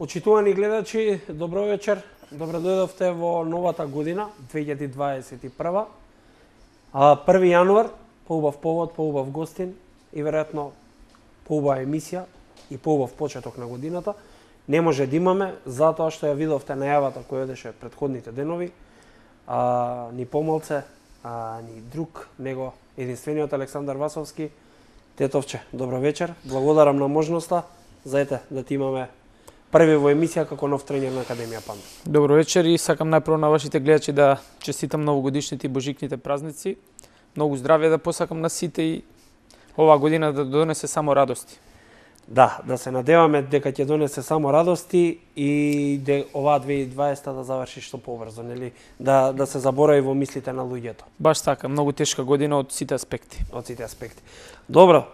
Почитувани гледачи, добро вечер. Добро дојдовте во новата година, 2021. 1 јануар, поубав повод, поубав гостин и веројатно поубава емисија и поубав почеток на годината. Не може да имаме, затоа што ја видовте најавата која одеше претходните денови. Ни помалце, ни друг, него единствениот Александар Васовски. Тетовче, добро вечер. Благодарам на можноста. Заете да ти имаме први во емисија како нов тренер на Академија Панда. Добро вечер и сакам најпрво на вашите гледачи да честитам новогодишните и божикните празници. Многу здравје да посакам на сите и оваа година да донесе само радости. Да се надеваме дека ќе донесе само радости и оваа 2020 да заврши што побрзо, нели? Да се заборави во мислите на луѓето. Баш така, многу тешка година од сите аспекти. Добро,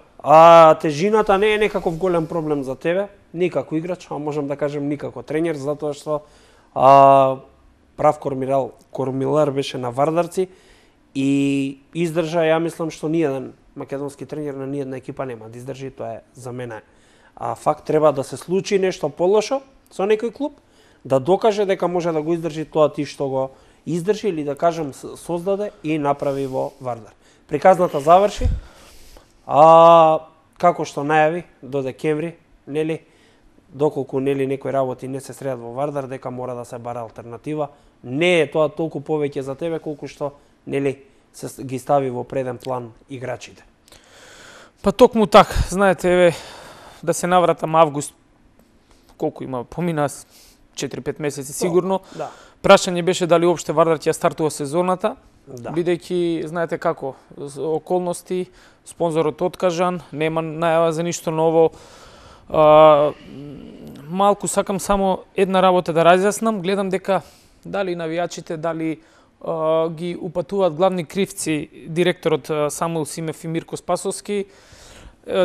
тежината не е некаков голем проблем за тебе, ни како играч, а можам да кажем ни како тренер, затоа што прав кормилар беше на Вардарци и издржа, ја мислам што ниеден македонски тренер на ниедна екипа нема да издржи, тоа е за мене. Факт, треба да се случи нешто полошо со некој клуб, да докаже дека може да го издржи тоа ти што го издржи или да кажем создаде и направи во Вардар. Приказната заврши, како што најави до декември, нели, доколку нели некои работи не се средат во Вардар, дека мора да се бара алтернатива. Не е тоа толку повеќе за тебе колку што нели се ги стави во преден план играчите. Па токму така, знаете, еве да се навратам август, колку има, помина 4-5 месеци сигурно. Да. Прашање беше дали уопште Вардар ќе стартува сезоната, бидејќи знаете како, околности, спонзорот откажан, нема најава за ништо ново. Малку сакам само една работа да разјаснам, гледам дека дали навијачите, дали ги упатуваат главни кривци директорот Самуил Симев и Мирко Спасовски,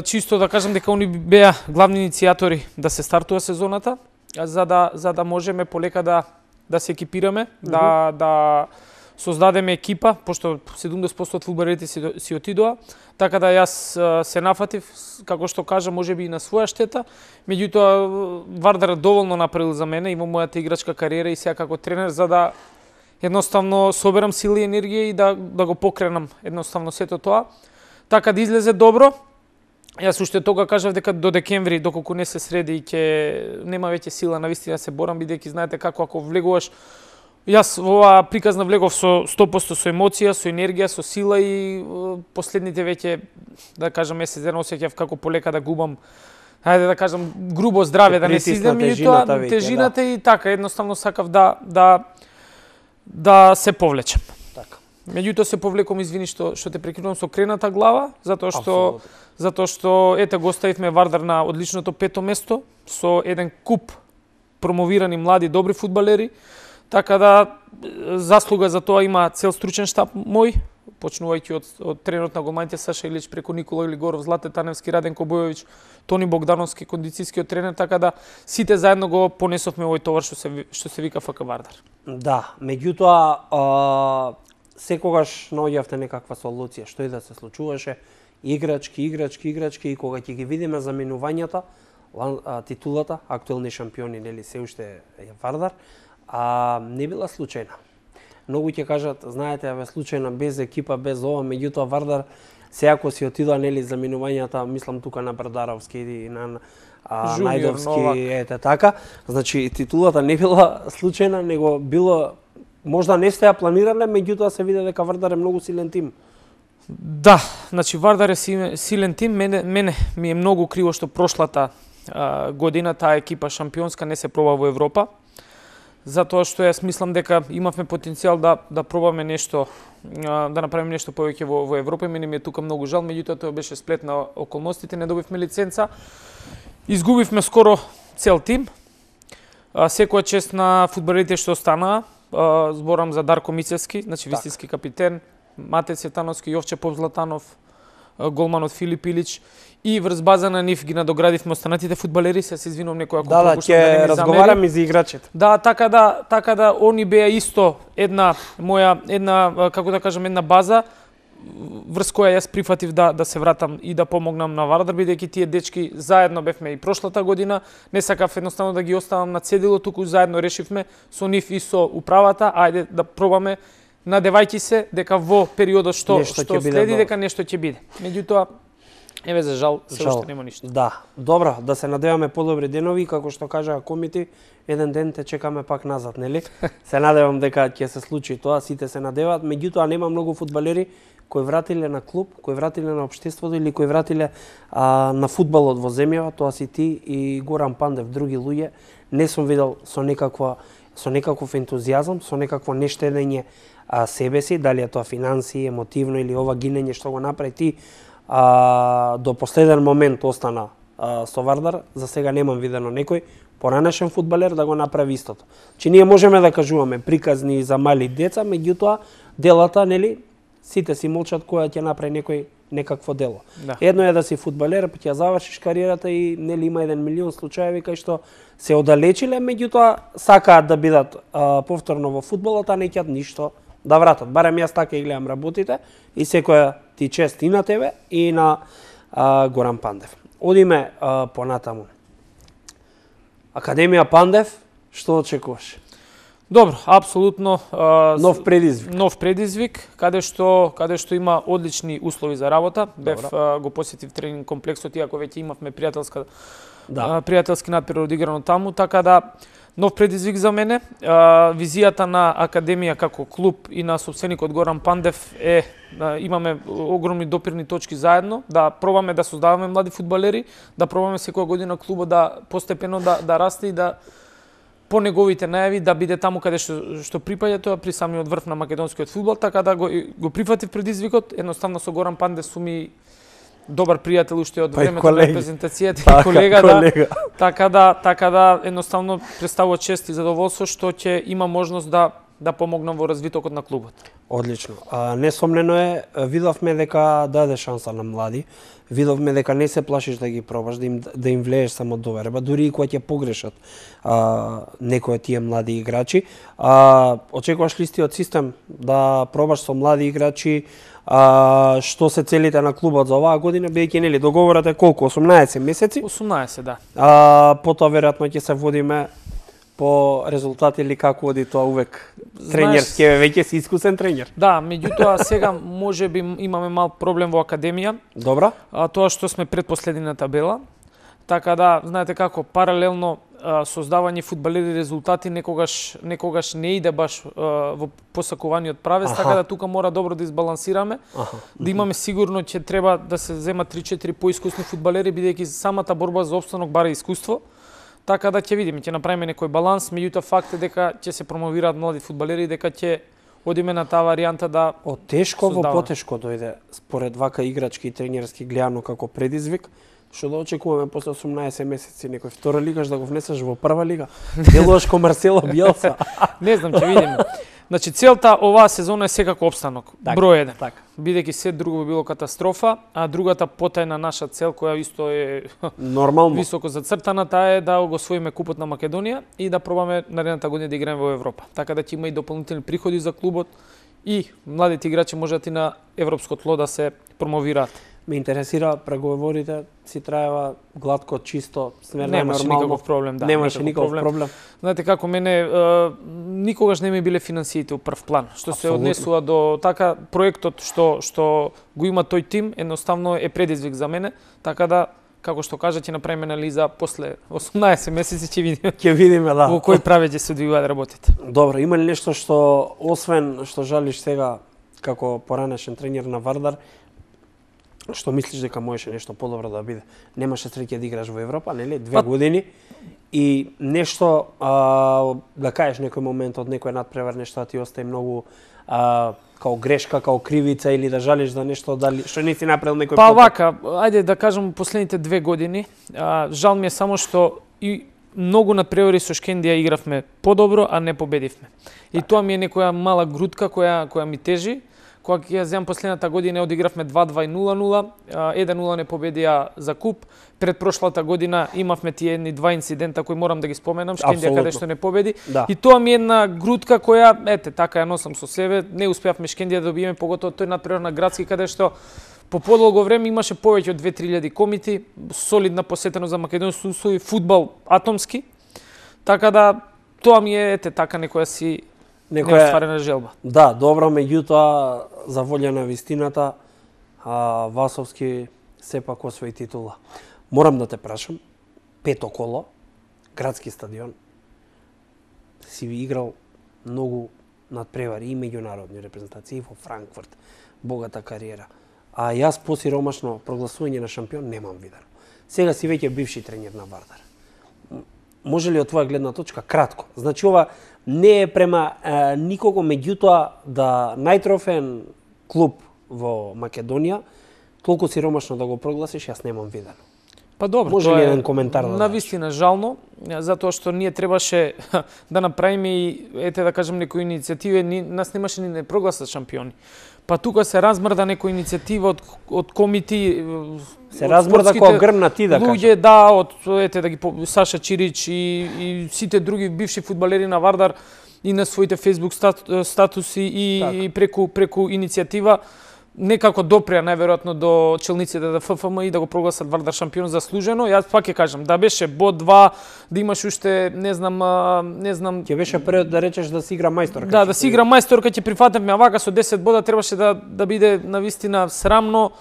чисто да кажам дека они беа главни иницијатори да се стартува сезоната, за да можеме полека да се екипираме, да создадеме екипа, пошто 70% од фудбалерите си отидоа, така да јас се нафатив, како што кажа, можеби и на своја штета, меѓутоа Вардар доволно направил за мене и во мојата играчка кариера и сега како тренер, за да едноставно соберам сили и енергија и да го покренам едноставно сето тоа, така да излезе добро. Јас уште тога кажав дека до декември, доколку не се среди, ќе нема веќе сила навистина се борам, бидејќи знаете како ако влегуваш. Јас во оваа приказна влегов со 100% со емоција, со енергија, со сила и последните веќе, да кажам, месец дена осеќав како полека да губам, ајде да кажам, грубо здравје, да не си излем и тоа тежината и така, едноставно сакав да се повлечам. Така. Меѓутоа се повлеком, извини што те прекинувам, со крената глава, затоа што ете го оставивме Вардар на одличното 5-то место со еден куп промовирани млади добри фудбалери, така да заслуга за тоа има цел стручен штаб мој, почнувајќи од тренерот на голманите Саша Илич, преку Никола Илигоров, Злате Таневски, Раденко Бојовиќ, Тони Богдановски, кондицијскиот тренер, така да сите заедно го понесовме овој товар што се вика ФК Вардар. Да, меѓутоа секогаш наоѓавте некаква солуција, што и да се случуваше, играчки и кога ќе ги видиме заменувањата, титулата, актуелни шампиони, нели се уште е Вардар, не била случајна. Многу ќе кажат, знаете, случајна без екипа, без ова, меѓутоа Вардар сеако си отидоа нели заменувањата, мислам тука на Брдаровски и на Најдовски, ете така. Значи титулата не била случајна, него било можда не сте ја планирале, меѓутоа се виде дека Вардар е многу силен тим. Да, значи Вардар е силен тим, мене ми е многу криво што прошлата година таа екипа шампионска не се проба во Европа. Затоа што јас мислам дека имавме потенцијал да пробаме нешто, да направиме нешто повеќе во Европа. Мене ми е тука многу жал, меѓутоа тоа беше сплет на околностите, не добивме лиценца. Изгубивме скоро цел тим. Секоја чест на фудбалерите што останаа, зборам за Дарко Мицевски, значи вистински капитен, Мате Цветановски, Јовче Попзлатанов, голманот Филип Илич и врз база на нив ги надоградивме останатите фудбалери, се извинувам некој ако пропуштам да не ми замери. Разговараме за играчите. Да, така да они беа исто една како да кажам, една база врз која јас прифатив да се вратам и да помогнам на Вардар, бидејќи тие дечки заедно бевме и прошлата година, не сакав едноставно да ги оставам на цедило, туку заедно решивме со нив и со управата, ајде да пробаме, надевајќи се дека во периодот што следи дека нешто ќе биде. Меѓутоа, еве за жал, се уште нема ништо. Да, добро, да се надеваме подобри денови, како што кажаа комити, еден ден те чекаме пак назад, нели? Се надевам дека ќе се случи тоа, сите се надеваат, меѓутоа нема многу фудбалери кои вратиле на клуб, кои вратиле на општеството или кои вратиле на фудбалот во земјава, тоа си ти и Горан Пандев, други луѓе, не сум видел со некаков ентузијазам, со некакво нештедење себе си, дали е тоа финанси, емотивно или ова гинење што го направи ти, до последен момент остана со Вардар, за сега немам видено некој поранешен фудбалер да го направи истото. Че ние можеме да кажуваме приказни за мали деца, меѓутоа делата, нели, сите си молчат која ќе направи некој некакво дело. Да. Едно е да си фудбалер, па ќе завршиш кариерата и нели има 1 милион случаеви кај што се оддалечиле, меѓутоа сакаат да бидат повторно во фудбалот, а неќат ништо да вратат. Барем јас така и гледам работите и секоја ти чест и на тебе и на Горан Пандев. Одиме понатаму. Академија Пандев, што очекуваш? Добро, апсолутно нов предизвик. Нов предизвик, каде што има одлични услови за работа. Бев го посетив тренинг комплексот, иако веќе имавме пријателски надпревар одиграно таму, така да нов предизвик за мене. Визијата на Академија како клуб и на собственикот Горан Пандев е имаме огромни допирни точки заедно, да пробаме да создаваме млади фудбалери, да пробаме секоја година клубот да постепено да расте и да по неговите најави да биде таму каде што припаѓа, тоа при самиот врв на македонскиот фудбал, така да го прифатив предизвикот. Едноставно со Горан Пандев сум и добар пријател уште од времето на презентацијата и колега. Така да едноставно представува чест и задоволство што ќе има можност да помогнам во развитокот на клубот. Одлично. Несомнено е, видовме дека даде шанса на млади, видовме дека не се плашиш да ги пробаш, да им влееш само доверба, дури и кога ќе погрешат некои тие млади играчи. Очекуваш ли истиот систем да пробаш со млади играчи? Што се целите на клубот за оваа година, бидејќи нели договорот е колку, 18 месеци? 18, да. Потоа веројатно ќе се водиме по резултати или како оди тоа увек тренерски, веќе си искусен тренер. Да, меѓутоа сега можеби имаме мал проблем во Академија. Добро. Тоа што сме предпоследни на табела. Така да, знаете како, паралелно создавање фудбалери резултати некогаш не иде баш во посакуваниот правец, така да тука мора добро да избалансираме, да имаме сигурно ќе треба да се земат 3-4 поискусни фудбалери, бидејќи самата борба за опстанок бара искуство. Така да ќе видиме, ќе направиме некој баланс, меѓутоа факт е дека ќе се промовираат млади фудбалери, дека ќе одиме на таа варијанта да од тешко во потешко дојде според вака играчки и тренерски гледано како предизвик. Што да очекуваме после 18 месеци некој втора лигаш да го внесеш во прва лига? Делуваш ко Марсело Биелса. Не знам, ќе видиме. Значи целта оваа сезона е секако опстанок. Број 1. Бидејќи се друго би било катастрофа, а другата потајна наша цел која исто е нормално високо зацртана, таа е да го освоиме купот на Македонија и да пробаме наредната година да играеме во Европа. Така да ќе има и дополнителни приходи за клубот и младите играчи можат и на европско тло да се промовираат. Ме интересира, преговорите си траева гладко, чисто, смерно, немаше нормално. Никаков проблем, да. Немаше никаков проблем. Знаете како, мене никогаш не ми биле финансиите у прв план. Што се однесува до така проектот што го има тој тим, едноставно е предизвик за мене, така да како што кажа, ќе направиме анализа после 18 месеци ќе видиме. Ќе видиме, да. Во кој правец ќе се одвиваат работите. Добро, има ли нешто што освен што жалиш сега како поранешен тренер на Вардар, што мислиш дека можеше нешто подобро да биде? Немаше среќа да играш во Европа, нели? 2 години и нешто да кажеш некој момент од некој надпревар, нешто ти остаи многу као грешка, као кривица или да жалиш за нешто дали што не си направил некој Па вака, ајде да кажам последните 2 години, жал ми е само што и многу надпревари со Шкендија игравме подобро, а не победивме. И тоа ми е некоја мала грудка која ми тежи, Кога ќе ја земам последната година одигравме 2-2 и 0-0, 1-0 не победија за куп. Пред прошлата година имавме тие едни два инцидента кои морам да ги споменам, Шкендија каде што не победи. Да. И тоа ми е една грудка која, така ја носам со себе. Не успеавме Шкендија да добиеме, поготово тој надпревар на градски каде што по подолго време имаше повеќе од 2-3 комити, солидна посетеност за македонски услови, фудбал атомски. Така да тоа ми е така некоја си неостварена желба. Да, добро, меѓутоа за волја на вистината Васовски сепак освои титула. Морам да те прашам, пето коло, градски стадион, си ви играл многу надпревари и меѓународни репрезентации во Франкфурт, богата кариера. А јас по сиромашно прогласување на шампион немам видено. Сега си веќе бивши тренер на Вардар. Може ли од твоја гледна точка кратко? Значи ова не е према никого, меѓутоа да најтрофеен клуб во Македонија толку сиромашно да го прогласиш, јас немам видено. Па добро, може ли еден коментар да навистина жално, затоа што ние требаше да направиме и да кажем некои иницијативи, нас немаше ни не прогласат шампиони. Па тука се размрда некоја иницијатива од комити, се размрда кој грмна ти да кажеш. Луѓе да, од да ги Саша Чирич и сите други бивши фудбалери на Вардар и на своите Facebook статуси и преку иницијатива некако допреа најверојатно до челниците да ФФМ и да го прогласат Вардар шампион заслужено. Јас пак ќе кажам, да беше бод 2, да имаш уште не знам ќе беше пред да речеш да си игра мајсторка. Да си игра мајсторка, ќе прифатевме, а вака со 10 бода требаше да биде навистина срамно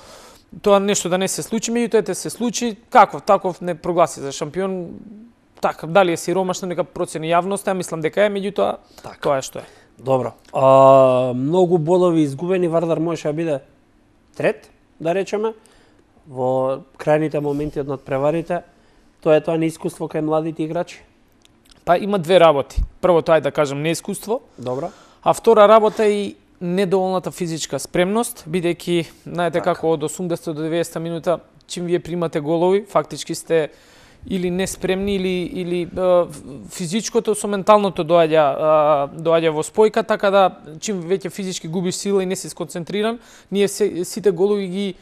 тоа нешто да не се случи, меѓутоа се случи, таков не прогласи за шампион. Така, дали е сиромашно, нека процени јавноста, мислам дека е, меѓутоа тоа е што е. Добро. Многу бодови изгубени, Вардар можеше да биде трет, да речеме, во крајните моменти од надпреварите. Тоа е неискуство кај младите играчи? Па има две работи. Прво тоа е да кажем неискуство. Добро. А втора работа е и недоволната физичка спремност, бидејќи знаете како од 80 до 90 минута чим вие примате голови, фактички сте или неспремни или физичкото со менталното доаѓа во спојка, така да чим веќе физички губиш сила и не си сконцентриран, ние сите голови ги,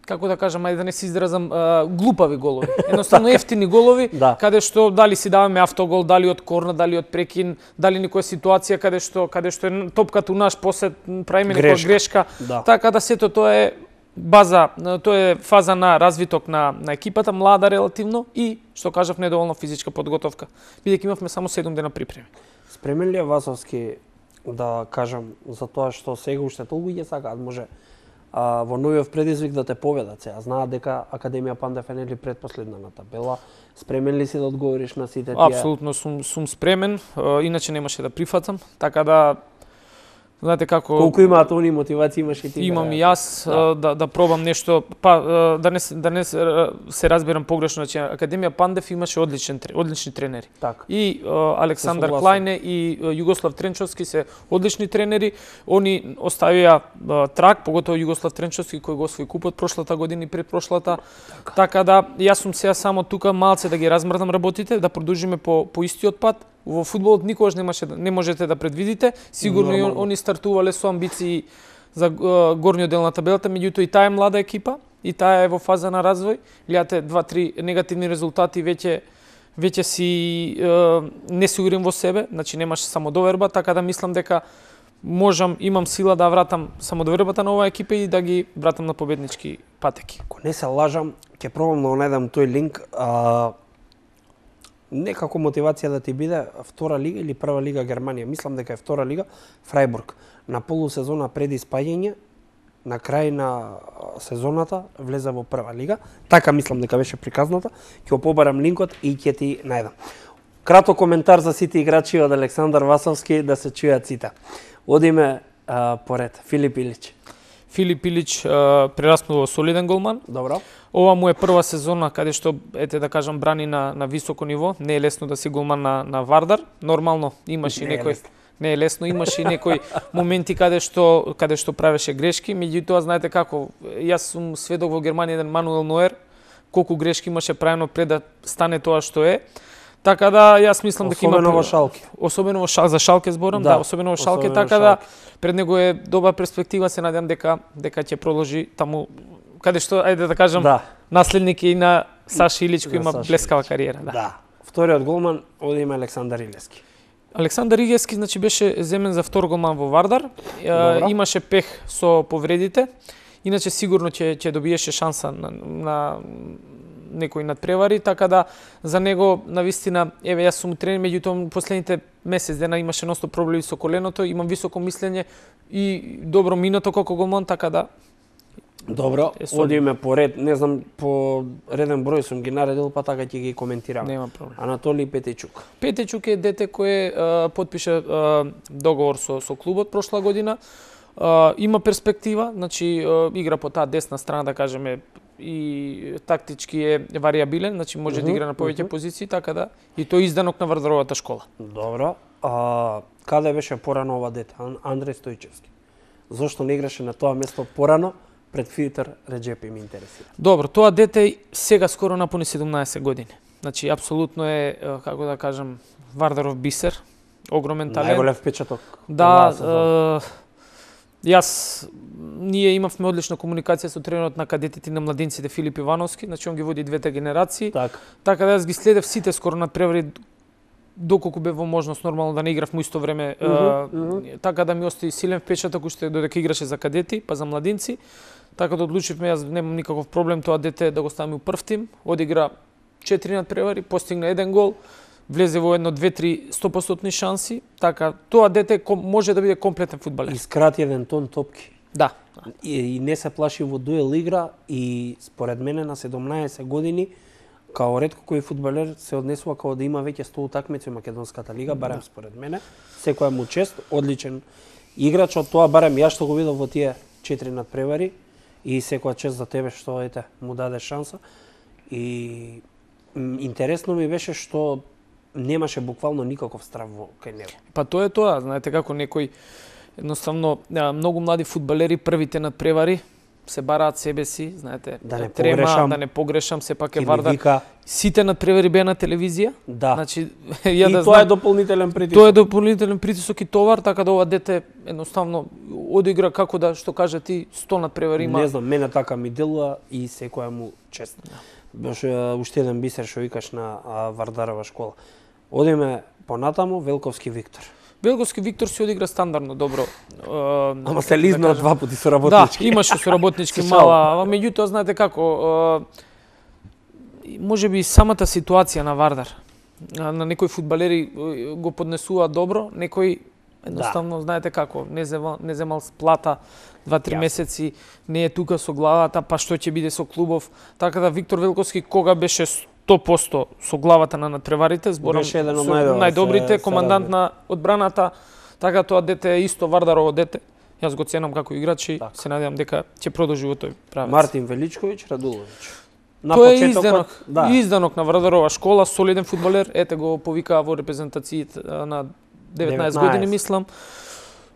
како да кажам, ајде да не се изразам, глупави голови. Едноставно ефтини голови, каде што дали си даваме автогол, дали од корна, дали од прекин, дали некоја ситуација каде што е топката у наш посет, правиме некоја грешка. Така да сето тоа е база, тоа е фаза на развиток на екипата, млада релативно и, што кажав, недоволна физичка подготовка, бидејќи имавме само 7 дена припреми. Спремен ли е Васовски да кажам за тоа што сега уште толку ќе сакаат, може во новиот предизвик да те победат сега? Знаат дека Академија Пандев е нели предпоследна на табела. Спремен ли си да одговориш на сите тие? Апсолутно сум спремен, иначе немаше да прифатам, така да знаете како колку имаат они мотивација имаш и ти? Имам и јас да пробам нешто, па да не се разберам погрешно, значи Академија Пандев имаше одлични тренери. Так. И Александар Клајне и Југослав Тренчовски се одлични тренери. Они оставија трак, поготово Југослав Тренчовски кој го освои купот прошлата година и предпрошлата. Така да јас сум сега само тука малце да ги размрдам работите, да продолжиме по истиот пат. Во фудбалот никогаш не можете да предвидите. Сигурно и они стартувале со амбиции за горниот дел на табелата, меѓутоа и таа е млада екипа и таа е во фаза на развој. Гледате 2-3 негативни резултати, веќе си несигурен во себе, значи немаше самодоверба, така да мислам дека имам сила да вратам самодовербата на оваа екипа и да ги вратам на победнички патеки. Ако не се лажам, ќе пробам да најдам тој линк. Некако мотивација да ти биде втора лига или прва лига Германија. Мислам дека е втора лига Фрајбург. На полусезона пред испаѓање, на крај на сезоната влезе во прва лига. Така мислам дека беше приказната. Ќе побарам линкот и ќе ти најдам. Краток коментар за сите играчи од Александар Васовски да се чујат сите. Одиме поред. Филип Илич. Филип Илич прераснува солиден голман. Добро. Ова му е прва сезона каде што да кажам брани на високо ниво. Не е лесно да си голман на Вардар. Нормално имаше некој не е лесно, имаше и некои моменти каде што правеше грешки, меѓутоа знаете како, јас сум сведок во Германија еден Мануел Ноер, колку грешки имаше правено пред да стане тоа што е. Така да јас мислам дека има особено во Шалке. Особено во Шалке, за Шалке зборам, да, особено во Шалке, така да пред него е добра перспектива, се надевам дека ќе продолжи таму каде што, ајде да кажам, наследник и на Саши Илич кој има блескава кариера, Да. Вториот голман оди има Александар Илевски. Александар Илевски значи беше земен за втор голман во Вардар. Имаше пех со повредите. Иначе сигурно ќе добиеше шанса на некои надпревари, така да за него навистина, еве јас сум тренер, меѓутоа последните месец дена имаше ностоп проблеми со коленото, имам високо мислење и добро минато како голман, така да Добро, одиме по ред, не знам по реден број сум ги наредил, па така ќе ги коментирам. Нема проблем. Анатолий Петечук. Петечук е дете кој потпише договор со клубот прошла година. Има перспектива, значи игра по таа десна страна, да кажеме, и тактички е вариабилен, значи може да игра на повеќе позиции, така да и тој изданок на Вардаровата школа. Добро. Каде беше порано ова дете? Андреј Стојчевски. Зошто не играше на тоа место порано пред Филтер Реджепи, ми интересира? Добро, тоа дете сега скоро напуни 17 години. Значи апсолутно е, како да кажам, Вардаров бисер, огромен талент. Најголем впечаток. Да, ние имавме одлична комуникација со тренерот на кадетите на младинците Филип Ивановски, значи он ги води двете генерации. Така да јас ги следев сите скоро надпревари доколку бе во можност нормално да не играв му исто време, така да ми остави силен впечаток уште додека играше за кадети, па за младинци. Така да одлучивме, јас немам никаков проблем тоа дете да го ставиме у прв тим, одигра 4 надпревари, постигна 1 гол, влезе во 1-2-3 100% шанси, така тоа дете може да биде комплетен фудбалер. Искрати 1 тон топки. Да. И не се плаши во дуел игра и според мене на 17 години као ретко кој фудбалер се однесува како да има веќе 100 утакмици во македонската лига, барем според мене. Секоја му чест, одличен играч, од тоа барем ја што го видов во тие 4 надпревари и секоја чест за тебе што му даде шанса. И интересно ми беше што немаше буквално никаков страв кај него. Па тоа е тоа, знаете како некој едноставно многу млади фудбалери првите надпревари се бараат себе си, знаете, да не погрешам, сепак е Вардар. Сите надпревари беа на телевизија. Да. Значи, тоа е дополнителен притисок. Тоа е дополнителен притисок и товар, така да ова дете едноставно одигра како да што кажа ти 100 надпревари има. Не знам, мене така ми делува и секоја му чест. Беше уште еден бисер што викаш на Вардарова школа. Одиме понатаму, Велковски Виктор. Велковски Виктор се одигра стандардно добро. Ама се лизнаа два пати со работнички. Да, имаше со работнички мала, меѓутоа знаете како, можеби самата ситуација на Вардар, на некои фудбалери го поднесуваат добро, некои едноставно знаете како, не земал плата 2-3 месеци, не е тука со главата, па што ќе биде со клубов. Така да Виктор Велковски кога беше 100% со главата на надпреварите, зборам со најдобрите, командант на одбраната, така тоа дете е исто Вардарово дете. Јас го ценам како играч и се надевам дека ќе продолжи во тој правец. Мартин Величковиќ Радуловиќ. Тој е изданок на Вардарова школа, солиден фудбалер, ете го повикаа во репрезентациите на 19 години мислам.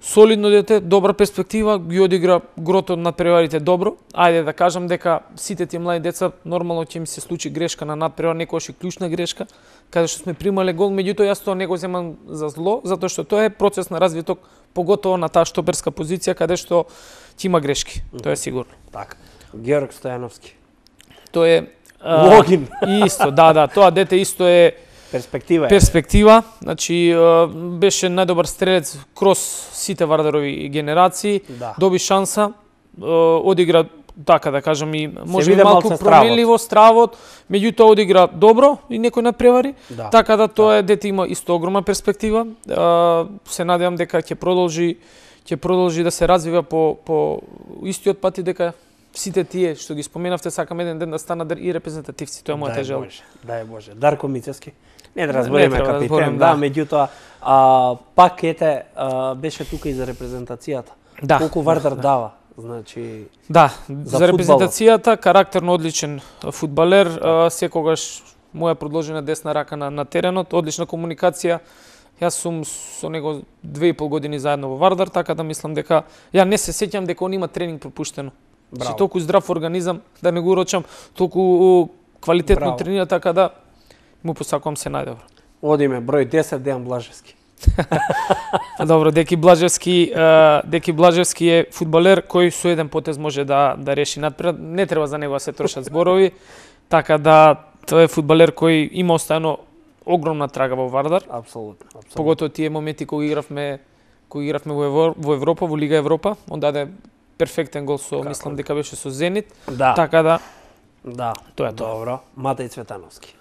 Солидно дете, добра перспектива, ги одигра грото на надпреварите добро. Ајде да кажам дека сите тие млади деца нормално ќе ми се случи грешка на надпревар, некојаш и клучна грешка, каде што сме примале гол, меѓутоа јас тоа не го земам за зло, затоа што тоа е процес на развиток, поготово на таа штоберска позиција каде што ќе има грешки, тоа е сигурно. Така. Георг Стојановски. Тоа е Логин. Исто, да, тоа дете исто е перспектива, значи беше најдобар стрелец кроз сите Вардарови генерации, доби шанса, одигра така да кажам и може малку променливо стравот, меѓутоа одигра добро и некој надпревари, така да тоа дете има исто огромна перспектива. Се надевам дека ќе продолжи да се развива по истиот пат и дека сите тие што ги споменавте сакам еден ден да станат и репрезентативци, тоа е мојата желба. Дај Боже. Дарко Мицевски. Не да разбереме капитен, меѓутоа пак беше тука и за репрезентацијата. Колку Вардар дава, значи за репрезентацијата, карактерно одличен фудбалер, секогаш моја продолжена десна рака на теренот, одлична комуникација. Јас сум со него 2,5 години заедно во Вардар, така да мислам дека ја не се сеќам дека он има тренинг пропуштено. Си толку здрав организам, да не го урочам, толку квалитетно тренира, така да му посакувам се најдобро. Одиме број 10 Дејан Блажевски. Добро, Деки Блажевски е фудбалер кој со еден потез може да реши надпред. Не треба за него да се трошат зборови. Така да тој е фудбалер кој има оставено огромна трага во Вардар. Апсолутно. Поготово тие моменти кога игравме во Европа, во Лига Европа, он даде перфектен гол со, мислам дека беше со Зенит. Да. Така да. Да, тоа е добро. Матеј Цветановски.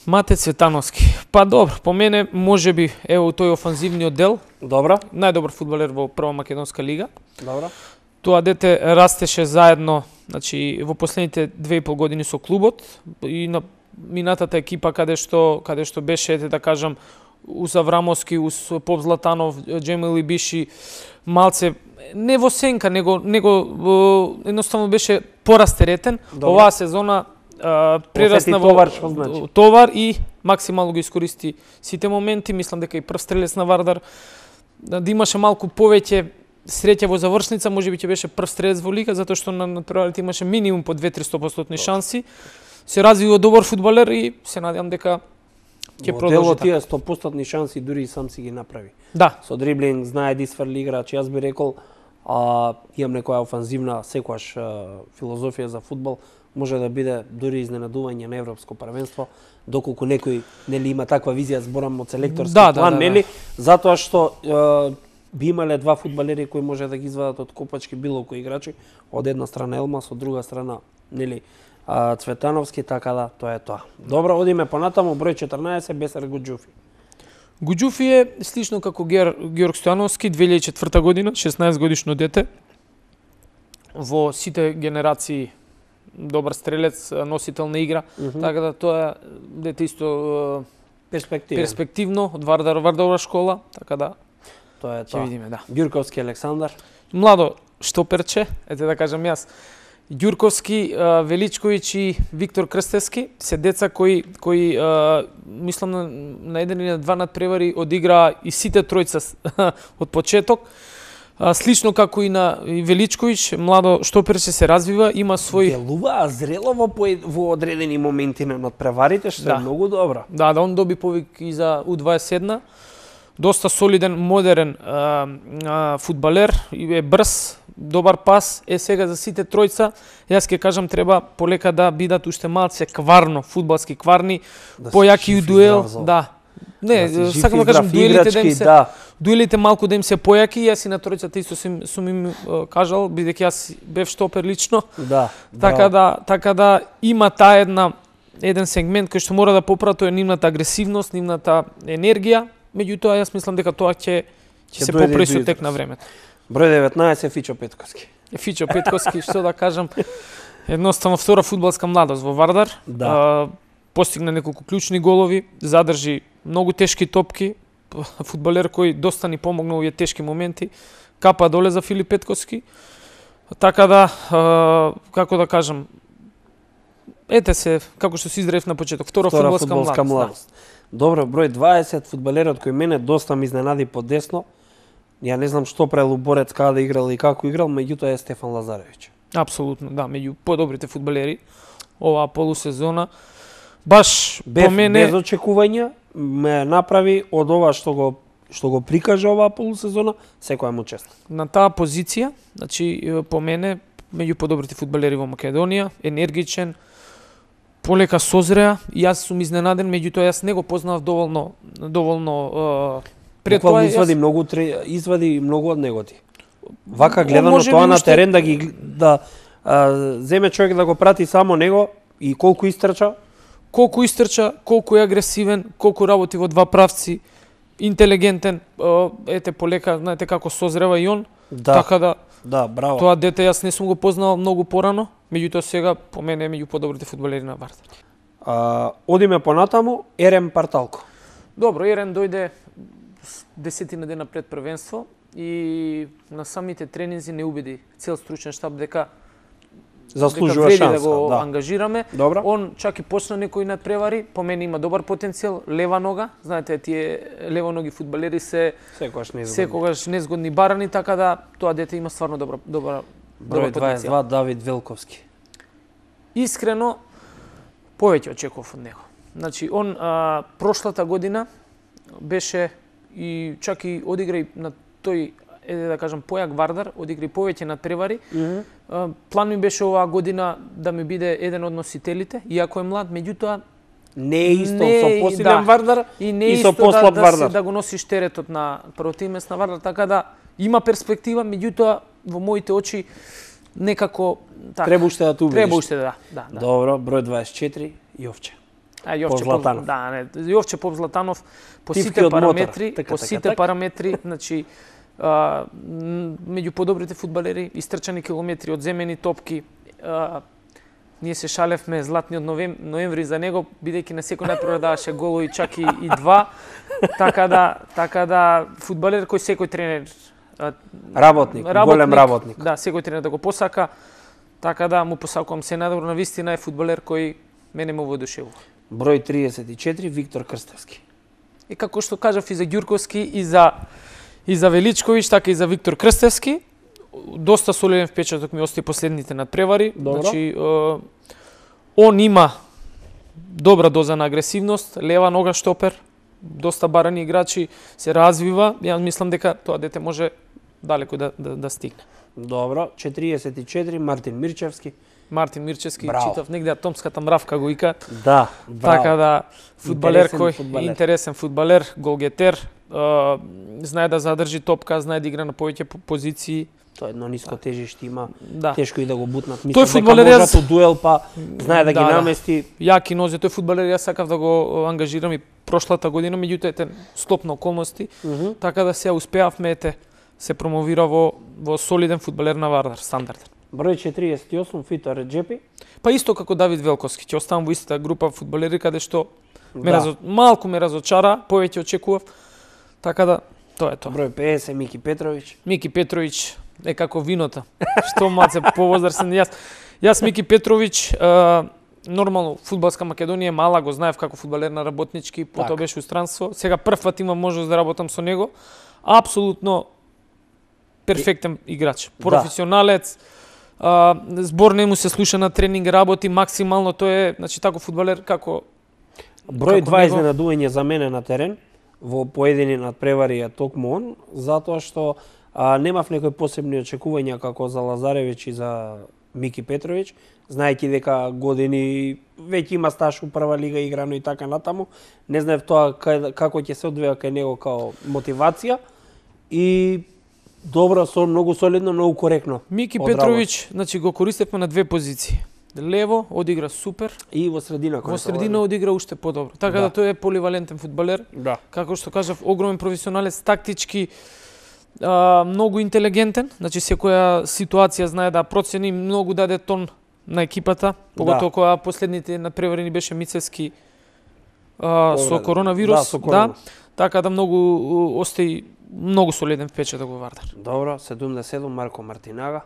Матеј Цветановски. Па добро, по мене можеби ево тој офанзивниот дел. Добро. Најдобар фудбалер во прва македонска лига. Добро. Тоа дете растеше заедно, значи во последните 2,5 години со клубот и на минатата екипа каде што беше, да кажам, Ус Аврамовски, Ус Поп Златанов, Джемили Биши, малце не во сенка, него едноставно беше порастеретен. Оваа сезона прерасна во товар и максимално го искористи сите моменти. Мислам дека и прв стрелец на Вардар, да имаше малку повеќе среќа во завршница, можеби ќе беше прв стрелец во лига, затоа што на натпреварите имаше минимум по 2-300% шанси. Се развива добар фудбалер и се надевам дека ќе продолжи така. Тие 100% шанси дури и сам си ги направи. Да. Со дриблинг, знае да изфрли играч. Јас би рекол, имам некоја офанзивна секојаш филозофија за фудбал, може да биде дури изненадување на европско првенство, доколку некој нели има таква визија, зборам од селекторски план, нели? Затоа што би имале два фудбалери кои може да ги извадат од копачки било кои играчи, од една страна Елмас, од друга страна нели Цветановски, така да тоа е тоа. Добро, одиме понатаму, број 14 Бесар Гуџуфи. Гуџуфи е слично како Георг Стојановски, 2004 година, 16 годишно дете. Во сите генерации добар стрелец, носител на игра, така да тоа дете исто перспективно од Вардарова школа, така да тоа е тоа. Ќе видиме, да. Ѓурковски Александар. Младо шторперче, ете да кажам јас. Ѓурковски, Величковиќ и Виктор Крстевски се деца кои мислам на еден или на два надпревари одигра и сите тројца од почеток. Слично како и на Величковиќ, младо шторперче се развива, има свој делува зрело во одредени моменти на надпреварите, што е многу добро. Да, он доби повик и за U21. Доста солиден, модерен фудбалер, е брз, добар пас, е сега за сите тројца. Јас ќе кажам треба полека да бидат уште малце кварно, фудбалски кварни, појаки у дуел, да. Не, сакам да кажам дуелите малку да им се појаки, јас и на тројцата исто сум им кажал, бидејќи јас бев штопер лично. Да. Така да има таа еден сегмент кој што мора да поправи, тоа е нивната агресивност, нивната енергија. Меѓутоа, јас мислам дека тоа ќе се поправи со тек на времето. Број 19 Фичо Петковски. Фичо Петковски, што да кажам, едноставно втора фудбалска младост во Вардар. Да. Постигна неколку клучни голови, задржи многу тешки топки, фудбалер кој доста ни помогна овие тешки моменти. Капа доле за Филип Петковски. Така да, како да кажам, ете се, како што се издрев на почеток, втора фудбалска младост. Добро, број 20, фудбалерот кој мене доста ми изненади по десно. Ја не знам што правил Борец, каде играл и како играл, меѓутоа е Стефан Лазаревиќ. Апсолутно, да, меѓу подобрите фудбалери оваа полусезона. Баш по мене без очекувања ме направи од ова што го прикажа оваа полусезона, секоја му чест. На таа позиција, значи по мене меѓу подобрите фудбалери во Македонија, енергичен, полека созреа, јас сум изненаден, меѓутоа јас не го познав доволно пред тоа извади многу од него ти. Вака гледано тоа на терен да земе човек да го прати само него и колку истрча, колку е агресивен, колку работи во два правци, интелигентен, ете полека, знаете како созрева и он. Така да да, браво. Тоа дете јас не сум го познал многу порано, меѓутоа сега по мене е меѓу подобрите фудбалери на Вардар. Одиме понатаму, Ерем Парталко. Добро, Ерем дојде 10 дена пред првенство и на самите тренинзи не убеди цел стручен штаб дека заслужува шанса, да го ангажираме. Добро. Он чак и почна некои надпревари, по мене има добар потенцијал, лева нога, знаете тие левоноги фудбалери се секогаш незгодни барани, така да тоа дете има стварно добар број 22 Давид Велковски. Искрено повеќе очекував од него. Значи, он прошлата година беше и чак и одигра и на тој, да кажам, појак Вардар, одигра и повеќе надпревари. План ми беше оваа година да ми биде еден од носителите, иако е млад, меѓутоа не е исто со посилен Вардар и со послаб Вардар. Да го носиш теретот на првото место на Вардар, така да има перспектива, меѓутоа во моите очи некако така. Треба уште да ту видиш. Треба уште да. Добро, број 24, Јовче. Јовче Златанов. Јовче Поп Златанов по сите параметри, значи меѓу подобрите фудбалери, истрчани километри, одземени топки. Ние се шалевме златниот ноември за него, бидејќи на секој најпрво даваше голови, чак и два. Така да фудбалер кој секој тренер работник, голем работник. Да, секој тренер да го посака. Така да му посакувам се најдобро, на вистина е фудбалер кој мене му воодушевува. Број 34, Виктор Крстевски. И како што кажав и за Ѓурковски, и за Величковиќ, така и за Виктор Крстевски, доста солиден впечаток ми остаи последните надпревари. Добро. Значи, он има добра доза на агресивност, лева нога штопер, доста барани играчи, се развива. Ја мислам дека тоа дете може далеко да стигне. Добро, 44, Мартин Мирчевски. Мартин Мирчевски, Браво. читав негде атомската мравка го ика. Да, браво. Така да, фудбалер Интересен фудбалер, голгетер, знае да задржи топка, знае да игра на повеќе позиции. Тоа едно ниско тежиште има, Да. тешко и да го бутнат. Тој фудбалер дека можат дуел, па знае да ги намести. Јаки нозе, тој фудбалер јас сакав да го ангажирам и прошлата година, меѓутоа ете склоп на околности, така да се успеавме се промовира во солиден фудбалер на Вардар, стандарден. Број 48, Фито Реджепи. Па исто како Давид Велковски, ќе оставам во истата група фудбалери каде што малку ме разочара, повеќе очекував. Така да, тоа е тоа. Број 50, Мики Петровиќ. Мики Петровиќ е како виното. Што маце повозрасен јас Мики Петровиќ, нормално фудбалска Македонија е мала, го знаев како фудбалер на работнички, потоа беше у странство. Сега прв пат имам можност да работам со него. Апсолутно перфектен играч, професионалец. Збор не му се слуша на тренинг, работи максимално, тој е, значи таков фудбалер како Број 2 изненадување за мене на терен во поедини надпревари е токму он, затоа што немав некои посебни очекувања како за Лазаревиќ и за Мики Петровиќ, знаејќи дека години веќе има стаж у прва лига играно и така натаму. Не знаев тоа како ќе се одвива кај него као мотивација и добро, многу солидно, многу коректно. Мики Петровиќ, значи го користевме на две позиции. Лево одигра супер и во средина одигра уште подобро. Така да тој е поливалентен фудбалер. Да. Како што кажав, огромен професионалец, тактички, многу интелигентен, значи секоја ситуација знае да процени, многу даде тон на екипата, поготово кога последните надпревари ни беше Мицевски со коронавирус, така да многу остаи многу солиден впечаток во Вардар. Добро, 77 Марко Мартинага.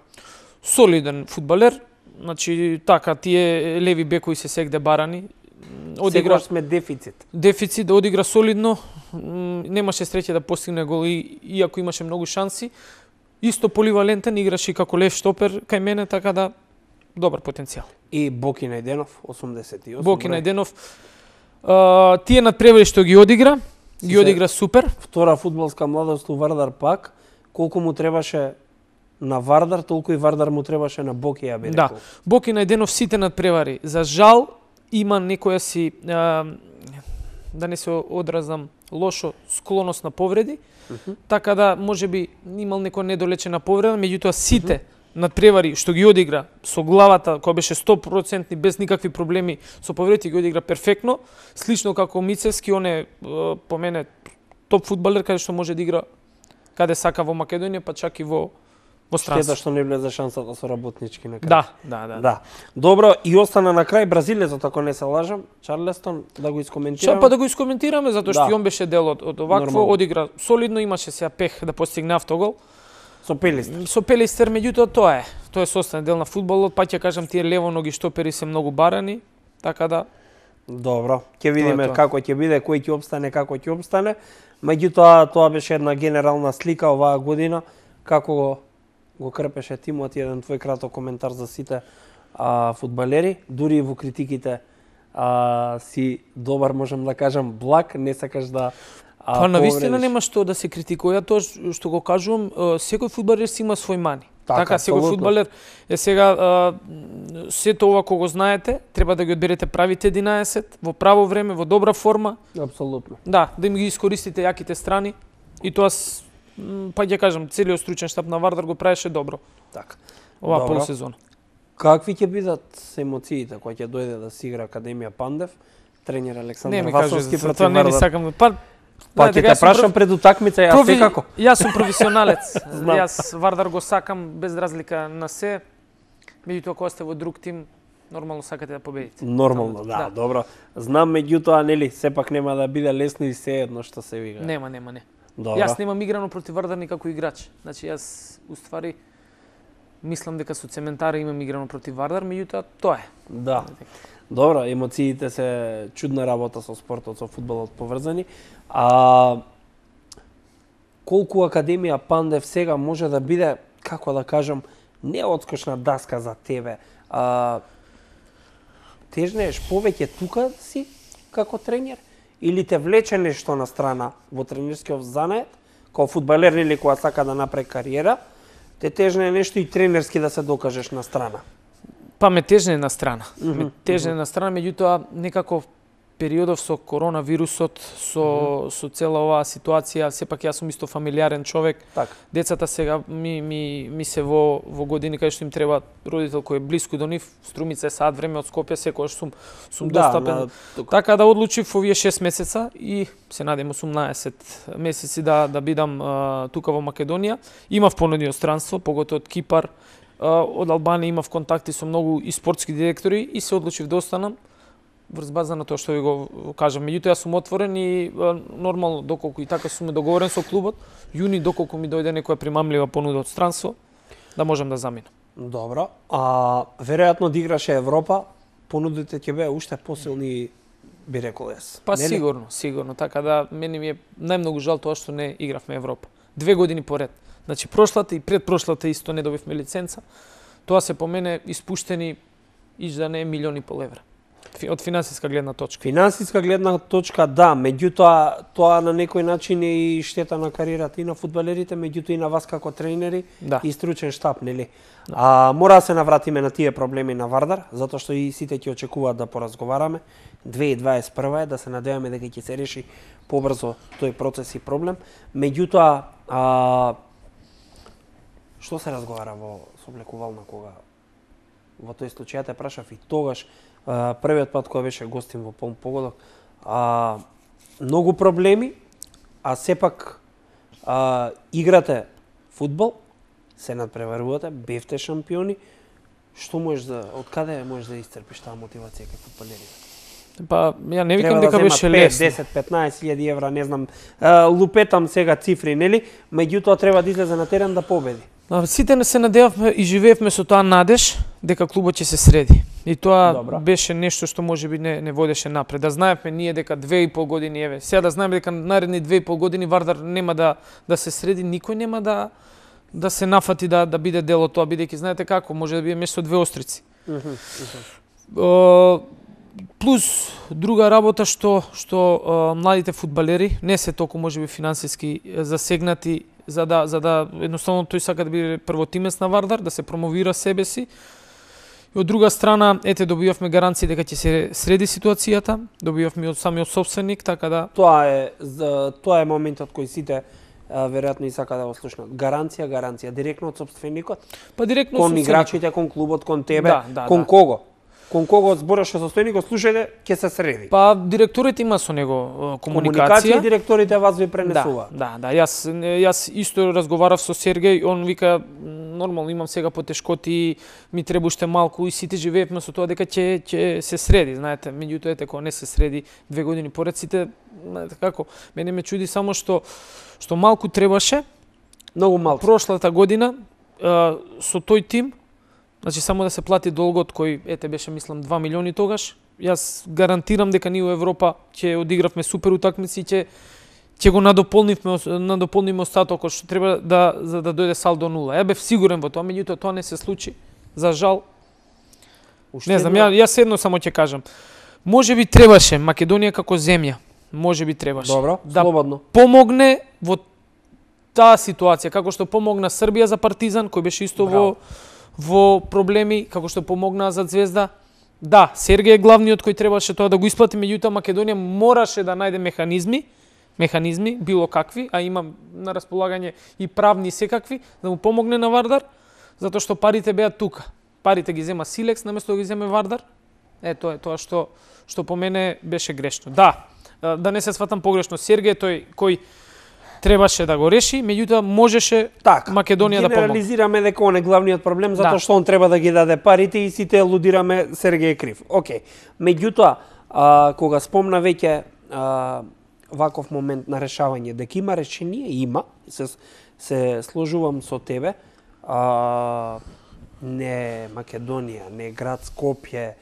Солиден фудбалер, значи така тие леви бекови се сегде барани. Одигра сме дефицит, одигра солидно, немаше среќа да постигне гол иако имаше многу шанси. Исто поливалентен, играше како лев штопер кај мене, така да добар потенцијал. И Боки Најденов 88. Боки Најденов тие надпревари што ги одигра супер. Втора фудбалска младост у Вардар пак, колку му требаше на Вардар, толку и Вардар му требаше на Боки, ја би рекол. Да, Боки Најденов сите надпревари. За жал има некоја си да не се одразам лошо склоност на повреди, така да можеби имал некоја недолечена повреда, меѓутоа сите надпревари што ги одигра со главата, која беше 100% без никакви проблеми со повредите, ги одигра перфектно, слично како Мицевски, он е по мене топ фудбалер каде што може да игра каде сака во Македонија, па чак и во странство. Штета што не влезе шансата со работнички на крај. Да. Добро, и остана на крај бразилецот, ако не се лажам, Чарлестон, да го искоментираме. Па да го искоментираме, затоа што и он беше дел од овакво, одигра солидно, имаше сега пех да постигне автогол. Со Пелистер, меѓутоа тоа е составен дел на фудбалот, па ќе кажам тие левоноги штопери се многу барани, така да. Добро, ќе видиме како ќе биде, кој ќе опстане, како ќе опстане. Меѓутоа тоа беше една генерална слика оваа година, како го крпеше тимот, еден твој краток коментар за сите фудбалери, дури и во критиките си добар, можам да кажам, благ, не сакаш да Па навистина нема што да се критикува тоа што го кажувам, секој фудбалер си има свој мани. Така секој фудбалер е сега сето ова кога го знаете, треба да ги одберете правите 11 во право време, во добра форма. Апсолутно. Да, да им ги искористите јаките страни и тоа па ќе кажам, целиот стручен штаб на Вардар го правеше добро. Така. Оваа полусезона. Какви ќе бидат емоциите кога ќе дојде да си игра Академија Пандев, тренер Александар Васовски против Вардар? Не ми сакам. Па ќе те прашам пред утакмица, јас секако. Јас сум професионалец. Јас Вардар го сакам без разлика на се. Меѓутоа кога сте во друг тим, нормално сакате да победите. Нормално, да, добро. Знам, меѓутоа, нели, сепак нема да биде лесно и се едно што се вига. Нема. Добро. Јас немам играно против Вардар никако играч. Значи јас уствари мислам дека со Цементара имам играно против Вардар, меѓутоа тоа е. Да. Добро, емоциите се чудна работа со спортот, со фудбалот поврзани. Колку Академија Пандев сега може да биде, како да кажам, не одскочна даска за тебе. Тежнееш повеќе тука си како тренер или те влече нешто на страна во тренерскиот занает, како фудбалер или кога сака да направи кариера, те тежне нешто и тренерски да се докажеш на страна? Па ме тежне на страна. Меѓутоа некако периодов со коронавирусот, со цела оваа ситуација, сепак јас сум исто фамилиарен човек. Так. Децата сега ми се во години кај што им треба родител кој е блиску до нив, струмица е саат време од Скопје, секогаш сум достапен. Така да одлучив овие 6 месеца и се надевам 18 месеци да бидам тука во Македонија. Имав понуди од странство, поготоа од Кипар, од Албанија имав контакти со многу и спортски директори и се одлучив да останам врз база на тоа што ви го кажам. Меѓутоа јас сум отворен и нормално доколку и така сум договорен со клубот, јуни доколку ми дојде некоја примамлива понуда од странство, да можам да заминам. Добро. Веројатно да играше Европа, понудите ќе беа уште посилни, би рекол јас. Па сигурно, така да мене ми е најмногу жал тоа што не игравме Европа. 2 години поред. Значи прошлата и предпрошлата исто не добивме лиценца. Тоа се по мене испуштени да не милиони и пол евра. Од финансиска гледна точка. Финансиска гледна точка, да, меѓутоа тоа на некој начин е и штета на кариерата и на фудбалерите, меѓутоа и на вас како тренери и стручен штаб, нели? Мора да се навратиме на тие проблеми на Вардар, затоа што и сите ќе очекуваат да поразговараме. 2021 е, да се надеваме дека ќе се реши побрзо тој процес и проблем. Меѓутоа, што се разговара во соблекувална кога во тој случај те прашав и тогаш, првиот пат кога беше гостин во полн погодок, многу проблеми, а сепак играте фудбал, се надпреварувате, бевте шампиони. Што можеш од каде можеш да исцрпиш таа мотивација кај фудбалерите? Па ја не викам дека беше лесно. 10-15.000 евра, не знам, лупетам сега цифри, нели? Меѓутоа треба да излезе на терен да победи. Сите не се надевавме и живеевме со тоа надеж дека клубот ќе се среди. И тоа беше нешто што можеби не водеше напред. Да знаевме ние дека 2,5 години, еве, сега да знаеме дека наредни 2,5 години Вардар нема да се среди, никој нема да се нафати да биде дел од тоа, бидејќи знаете како, може да биде место две острици. Плюс друга работа што младите фудбалери не се толку можеби финансиски засегнати за да едноставно тој сака да биде првотимец на Вардар, да се промовира себе си. И од друга страна, добивавме гаранции дека ќе се среди ситуацијата, добивавме од самиот собственик, така да тоа е моментот кој сите веројатно и сака да го слушнат. Гаранција директно од собственикот. Па директно кон играчите, кон клубот, кон тебе, кон кого? Кон кого збореше собственикот, слушајте, ќе се среди. Па директорите има со него комуникација. Директорите вас ви пренесуваат. Да, јас исто разговарав со Сергеј, он вика нормално имам сега потешкоти, ми треба уште малку и сите живеевме со тоа дека ќе се среди, знаете, меѓутоа кога не се среди 2 години поред сите, знаете како, мене ме чуди само што малку требаше. Многу малку. Прошлата година со тој тим, значи само да се плати долгот кој беше мислам 2 милиони тогаш, јас гарантирам дека ние во Европа ќе одигравме супер утакмици и ќе го надополниме остатокот што треба за да дојде салдо нула. Ја бев сигурен во тоа, меѓутоа тоа не се случи. За жал. Не знам, јас едно само ќе кажам. можеби требаше Македонија како земја, можеби требаше Добро, да слободно. помогне во таа ситуација, како што помогна Србија за Партизан, кој беше исто во проблеми, како што помогна за Звезда. Да, Сергеј е главниот кој требаше тоа да го исплати, меѓутоа Македонија мораше да најде механизми, било какви, а има на располагање и правни секакви, да му помогне на Вардар, затоа што парите беа тука. Парите ги зема Силекс наместо да ги земе Вардар. Тоа е тоа што по мене беше грешно. Да не се сватам погрешно, Сергеј тој кој требаше да го реши, меѓутоа можеше Македонија да помогне. Генерализираме дека он е главниот проблем, затоа што он треба да ги даде парите и сите лудираме Сергеј е крив. Океј. Меѓутоа, кога спомна веќе ваков момент на решавање, дека има решение, има, се сложувам со тебе, не Македонија, не град Скопје,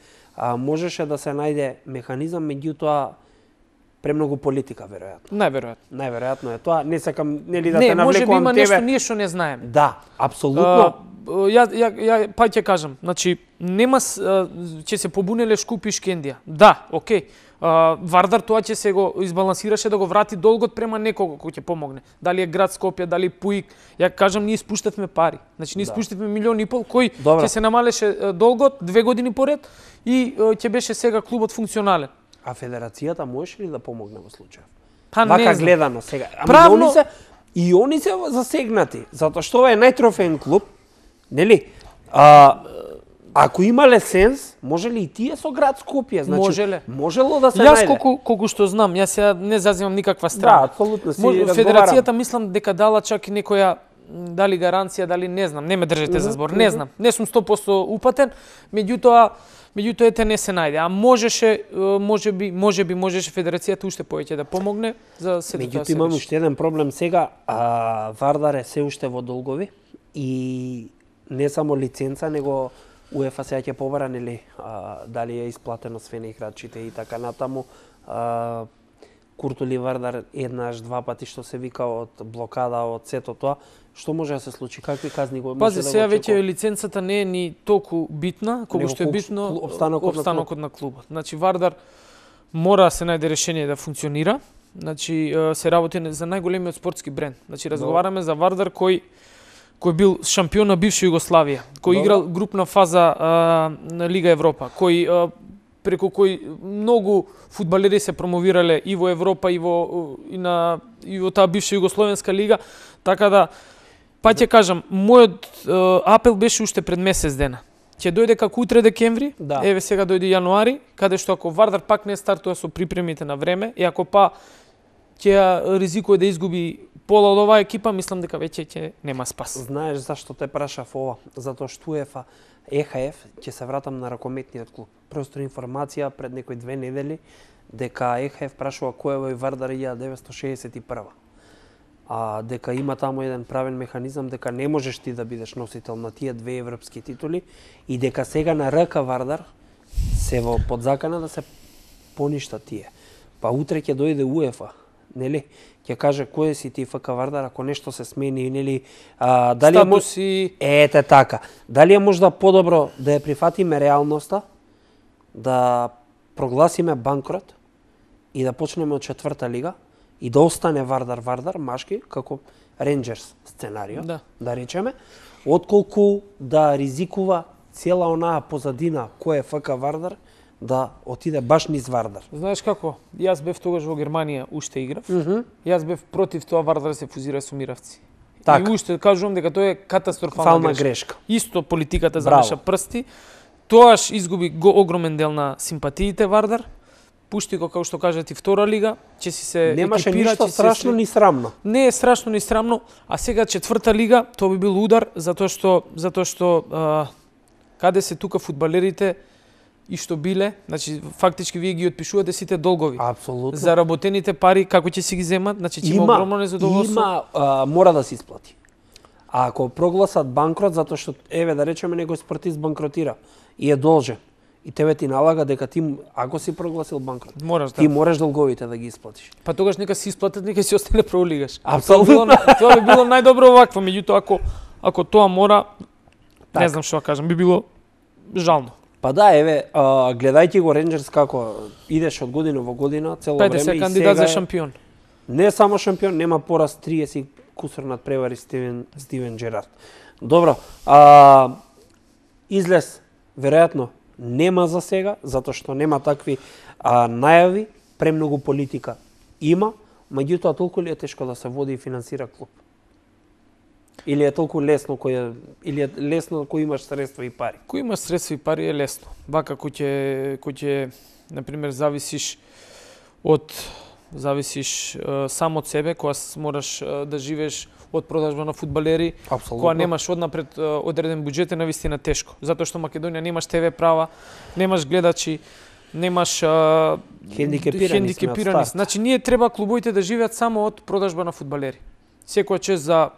можеше да се најде механизам, меѓутоа премногу политика, веројатно. Најверојатно е тоа. Не сакам нели да те навлекувам тебе. Не, можеби има нешто ние што не знаеме. Да, апсолутно. Ја па ќе кажам, значи нема ќе се побунеле Шкуп и Шкендија. Да, окей. Вардар тоа ќе се го избалансираше да го врати долгот према некого кој ќе помогне. Дали е град Скопје, дали Пуик. Ја кажам, ние испуштавме пари. Значи ние испуштавме 1,5 милиони кој ќе се намалеше долгот 2 години поред и ќе беше сега клубот функционален. А федерацијата можеше ли да помогне во случајов? Па вака не знам. Гледано сега. Правно... они се засегнати, затоа што ова е најтрофеен клуб, нели? Ако имале сенс, може ли и тие со град Скопје? Значи, можело да се најде. Јас колку што знам, јас сега не заземам никаква страна. Да, апсолутно си разговарам. Федерацијата мислам дека дала чак и некоја дали гаранција, дали не знам, не ме држете за збор, не знам. Не сум 100% упатен, меѓутоа ете не се најде. А можеше федерацијата уште повеќе да помогне за сето тоа. Меѓутоа имам уште еден проблем сега, Вардар е се уште во долгови и не само лиценца, него УЕФА сега ќе побара нели дали е исплатено све на играчите и така натаму. Куртули Вардар еднаш, два пати што се вика од блокада, од сето тоа. Што може да се случи? Какви казни го може да го очекува? Сега веќе лиценцата не е ни толку битна, колку што е битно опстанокот на клубот. Значи Вардар мора да се најде решение да функционира. Значи се работи за најголемиот спортски бренд. Значи разговараме за Вардар кој бил шампион на бивша Југославија, кој играл групна фаза на Лига Европа, преку кој многу фудбалери се промовирале и во Европа и во таа бивша Југословенска лига, така да па ќе кажам, мојот апел беше уште пред месец дена. Ќе дојде како утре декември, еве сега дојде јануари, каде што ако Вардар пак не стартува со припремите на време и ако па ќе ризикува да изгуби пола од оваа екипа, мислам дека веќе ќе нема спас. Знаеш зашто те прашав ова? Затоа што УЕФА, ЕХФ, ќе се вратам на ракометниот клуб. Просто информација пред некои 2 недели дека ЕХФ прашува кој е во Вардар 1961. Дека има таму еден правен механизам дека не можеш ти да бидеш носител на тие 2 европски титули и дека сега на РК Вардар се во подзакана да се поништа тие. Па утре ќе дојде УЕФА, нели? Ќе каже кој си ти ФК Вардар ако нешто се смени, нели? Дали статуси... Ете така. Дали е можда подобро да ја прифатиме реалноста, да прогласиме банкрот и да почнеме од 4-та лига и да остане Вардар машки како Ренџерс сценарио, да речеме, отколку да ризикува цела онаа позадина кој е ФК Вардар да отиде баш низ Вардар. Знаеш како? Јас бев тогаш во Германија, уште играв. Јас бев против тоа Вардар се фузира со Миравци. И уште кажувам дека тоа е катастрофална грешка. Исто политиката замеша прсти. Тоаш изгуби огромен дел на симпатиите Вардар. Пушти го, како што кажат, и втора лига, ќе си се немаше ништо страшно ни срамно. Не е страшно ни срамно, а сега 4-та лига, тоа би бил удар, затоа што каде се тука фудбалерите и што биле, значи фактички вие ги отпишувате сите долгови. Апсолутно. Заработените пари како ќе си ги земат, значи ќе има огромно незадоволство. Мора да се исплати. А ако прогласат банкрот затоа што еве да речеме некој спортист банкротира и е должен и тебе ти налага дека ти ако си прогласил банкрот, ти можеш долговите да ги исплатиш. Па тогаш нека си исплатат, нека си остане пролигаш. Апсолутно. Тоа би било најдобро овакво, меѓутоа ако тоа мора, не знам што да кажам, би било жално. Па да, еве, гледајќи го Рейнџерс како идеш од година во година, цело време се и кандидат сега за шампион. Не само шампион, нема пораз 30 кусур над превари Стивен Джерард. Добро, излез веројатно нема за сега, затоа што нема такви најави, премногу политика има, меѓутоа толку ли е тешко да се води и финансира клуб? Или е толку лесно или е лесно кој имаш средства и пари? Кој имаш средства и пари е лесно. Вака кој ќе на пример зависиш само од себе, кога мораш да живееш од продажба на фудбалери, кога немаш однапред одреден буџет е навистина тешко. Затоа што Македонија немаш ТВ права, немаш гледачи, немаш хендикепирани. Значи ние треба клубовите да живеат само од продажба на фудбалери. Секоја чест за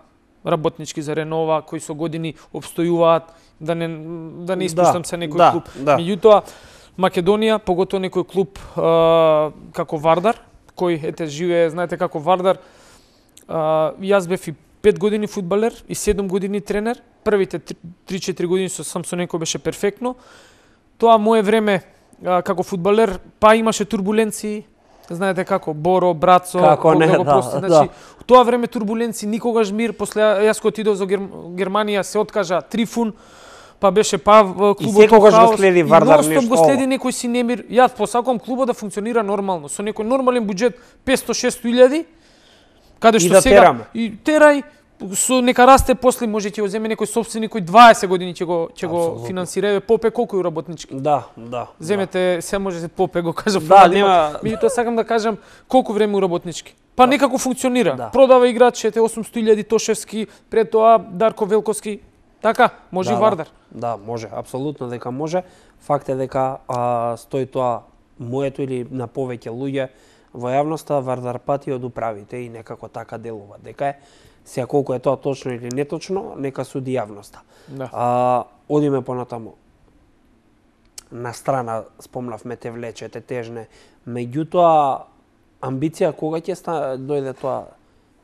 работнички, за Ренова, кои со години обстојуваат, да не испуштам се некој клуб. Меѓутоа, Македонија, поготово некој клуб како Вардар, кој живее, знаете како Вардар, јас бев и 5 години фудбалер и 7 години тренер. Првите 3-4 години сам со некој беше перфектно. Тоа мое време како фудбалер, па имаше турбуленции, знаете како Боро, Брацо, значи тоа време турбуленции, никогаш мир, после јас кога отидов за Германија се откажа Трифун, па беше клубот и секогаш го следи Вардар нешто. И го следи некој си немир. Јас посакувам клубот да функционира нормално, со некој нормален буџет 500-600 илјади, каде што сега и терај со нека расте, после може ќе го земе некој сопственик кој 20 години ќе го финансира. Попе колку е работнички? Да. Земете, се може се Попе го кажа. Да, нема. Меѓутоа сакам да кажам колку време у работнички. Па некако функционира. Да. Продава играчите 800.000 Тошевски, пред тоа Дарко Велковски. Така, може и Вардар. Да, може, апсолутно дека може. Факт е дека стои тоа моето или на повеќе луѓе во јавноста, Вардар пати од управите и некако така делува. Дека е сега колку е тоа точно или неточно, нека суди јавноста. Да. Одиме понатаму. На страна спомнавме те влече, те тежне. Меѓутоа, амбиција кога ќе дојде тоа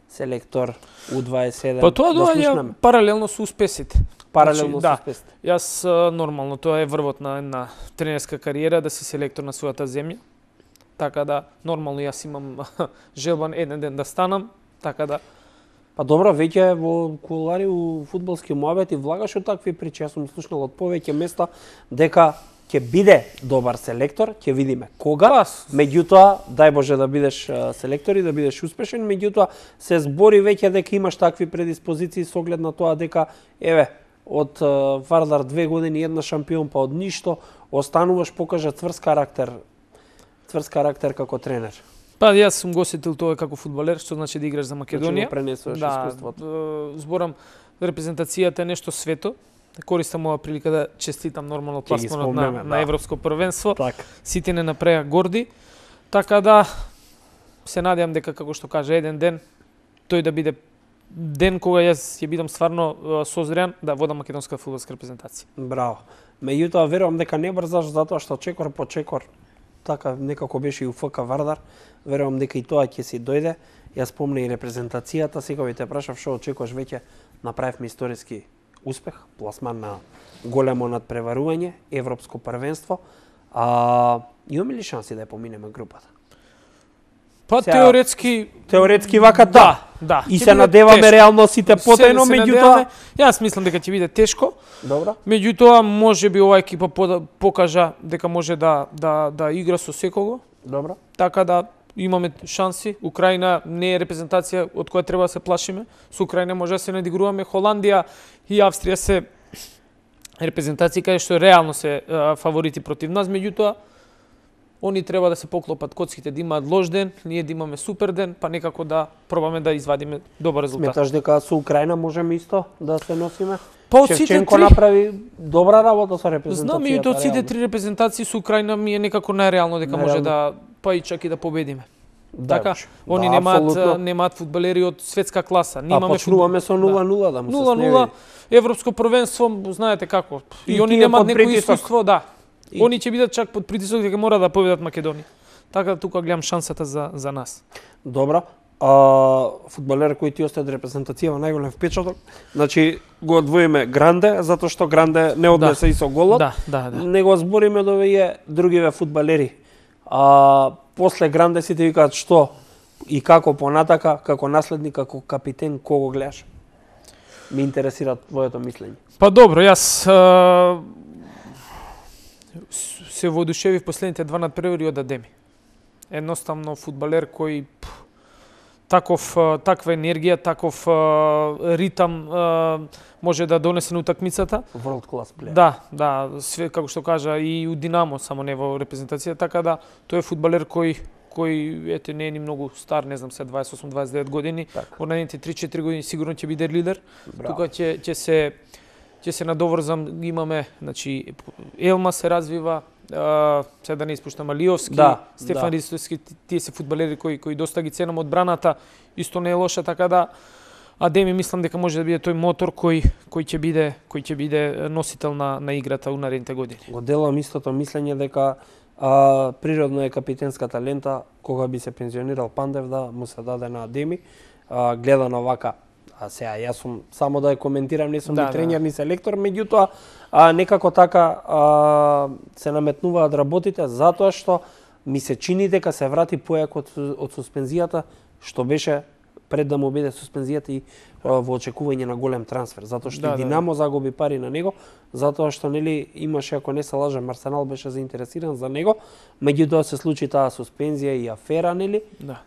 селектор У27? Па тоа доаѓа паралелно со успесите. Паралелно со успесите. Јас нормално, тоа е врвот на една тренерска кариера, да си селектор на својата земја. Така да, нормално јас имам желба еден ден да станам, така да. Па добро, веќе во кулари у фудбалски муабети влагаш од такви причи. Јас сум слушнал од повеќе места дека ќе биде добар селектор, ќе видиме кога. Меѓутоа, дај Боже да бидеш селектор и да бидеш успешен, меѓутоа се збори веќе дека имаш такви предиспозиции со оглед на тоа дека еве од Вардар 2 години една шампион, па од ништо остануваш, покажа цврст карактер како тренер. Па јас сум го осетил тоа како фудбалер, што значи да играш за Македонија. Значи пренесуваш искуството. Зборам, репрезентацијата е нешто свето. Користам ова прилика да честитам нормално пласманот на Европско првенство. Сите не направија горди. Така да се надевам дека, како што кажа, еден ден тој да биде ден кога јас ќе бидам стварно созрян да водам македонска фудбалска репрезентација. Браво. Меѓутоа верувам дека не брзаш, затоа што чекор по чекор така некако беше и у ФК Вардар. Верувам дека и тоа ќе си дојде. Јас спомна и репрезентацијата, сега ви те прашав што очекуваш, веќе направивме историски успех, пласман на големо надпреварување, Европско првенство. Имаме ли шанси да ја поминеме групата? Па теоретски вака да. И се надеваме реално сите потајно, меѓутоа јас мислам дека ќе биде тешко. Добро. Меѓутоа можеби ова екипа покажа дека може да игра со секого. Добро. Така да имаме шанси. Украина не е репрезентација од која треба да се плашиме. Со Украина може да се надигруваме. Холандија и Австрија се репрезентации каде што реално се фаворити против нас, меѓутоа они треба да се поклопат коцките, да имаат лош ден, ние да имаме супер ден, па некако да пробаме да извадиме добар резултат. Сметаш дека со Украина можеме исто да се носиме? Па Шевченко направи добра работа со репрезентацијата. Знам, и од сите три репрезентации со Украина ми е некако најреално дека може да па и чак и да победиме. Така, они немаат фудбалери од светска класа. Почнуваме со 0-0 да му се сневи. 0-0, Европско првенство, знаете како. И они немаат некој искуство, да. Они ќе бидат чак под притисок дека мора да победат Македонија. Така да тука гледам шансата за нас. Добро. фудбалер кој ти остави репрезентацијава најголем впечаток. Значи го одвоиме Гранде, затоа што Гранде не однесе и со голот. Да. Не го збориме до овие другиве фудбалери. После Гранде сите викаат што и како понатака, како наследник, како капитен, кого гледаш? Ме интересира твоето мислење. Па добро, јас се воодушевив последните два надпревари од Адеми. Едноставно фудбалер кој таква енергија, таков ритам може да донесе на утакмицата. World class player. Да, све како што кажа и у Динамо, само не во репрезентација, така да тој е фудбалер кој ете не е ни многу стар, не знам се 28-29 години, во наредните 3-4 години сигурно ќе биде лидер. Тука ќе се надоврзам, имаме, значи Елма се развива, се да не испуштам Алиовски, Стефан Ристовски, тие се фудбалери кои доста ги ценам одбраната, исто не е лоша, така да Адеми мислам дека може да биде тој мотор кој ќе биде носител на играта у наредните години. Го делам истото мислење дека природно е капитенската лента, кога би се пензионирал Пандев да му се даде на Адеми, гледано вака. Сега јас сум само да ја коментирам, не сум ни тренер ни селектор, меѓутоа некако така се наметнуваат работите затоа што ми се чини дека се врати појако од суспензијата што беше пред да му биде суспензијата и во очекување на голем трансфер, затоа што Динамо загуби пари на него, затоа што нели имаше, ако не се лажам, Арсенал беше заинтересиран за него, меѓутоа се случи таа суспензија и афера, нели?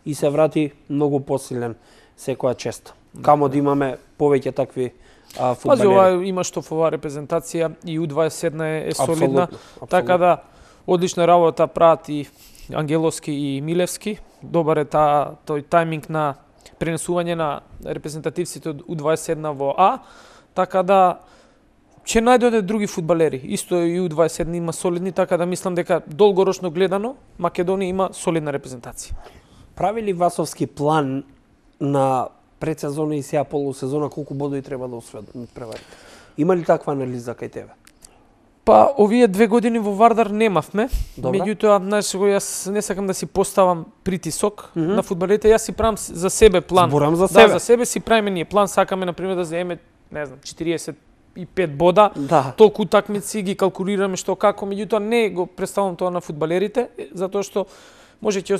И се врати многу посилен секоја чест. Камо да имаме повеќе такви фудбалери. Пази, има што во оваа репрезентација и U21 е солидна, така да одлична работа прават и Ангеловски и Милевски. Добар е тој тајминг на пренесување на репрезентативците од U21 во А, така да ќе најдоде други фудбалери. Исто и U21 има солидни, така да мислам дека долгорочно гледано Македонија има солидна репрезентација. Прави ли Васовски план на предсезона и сега полусезона колку бодови треба да освојат надпреварите? Има ли таква анализа кај тебе? Па овие 2 години во Вардар немавме, меѓутоа јас не сакам да си поставам притисок на фудбалерите, јас си правам за себе план. Зборам за себе. Да, за себе си правиме ние план, сакаме на пример да земеме, не знам, 45 бода, толку утакмици ги калкулираме што како, меѓутоа не го представам тоа на фудбалерите, затоа што може ќе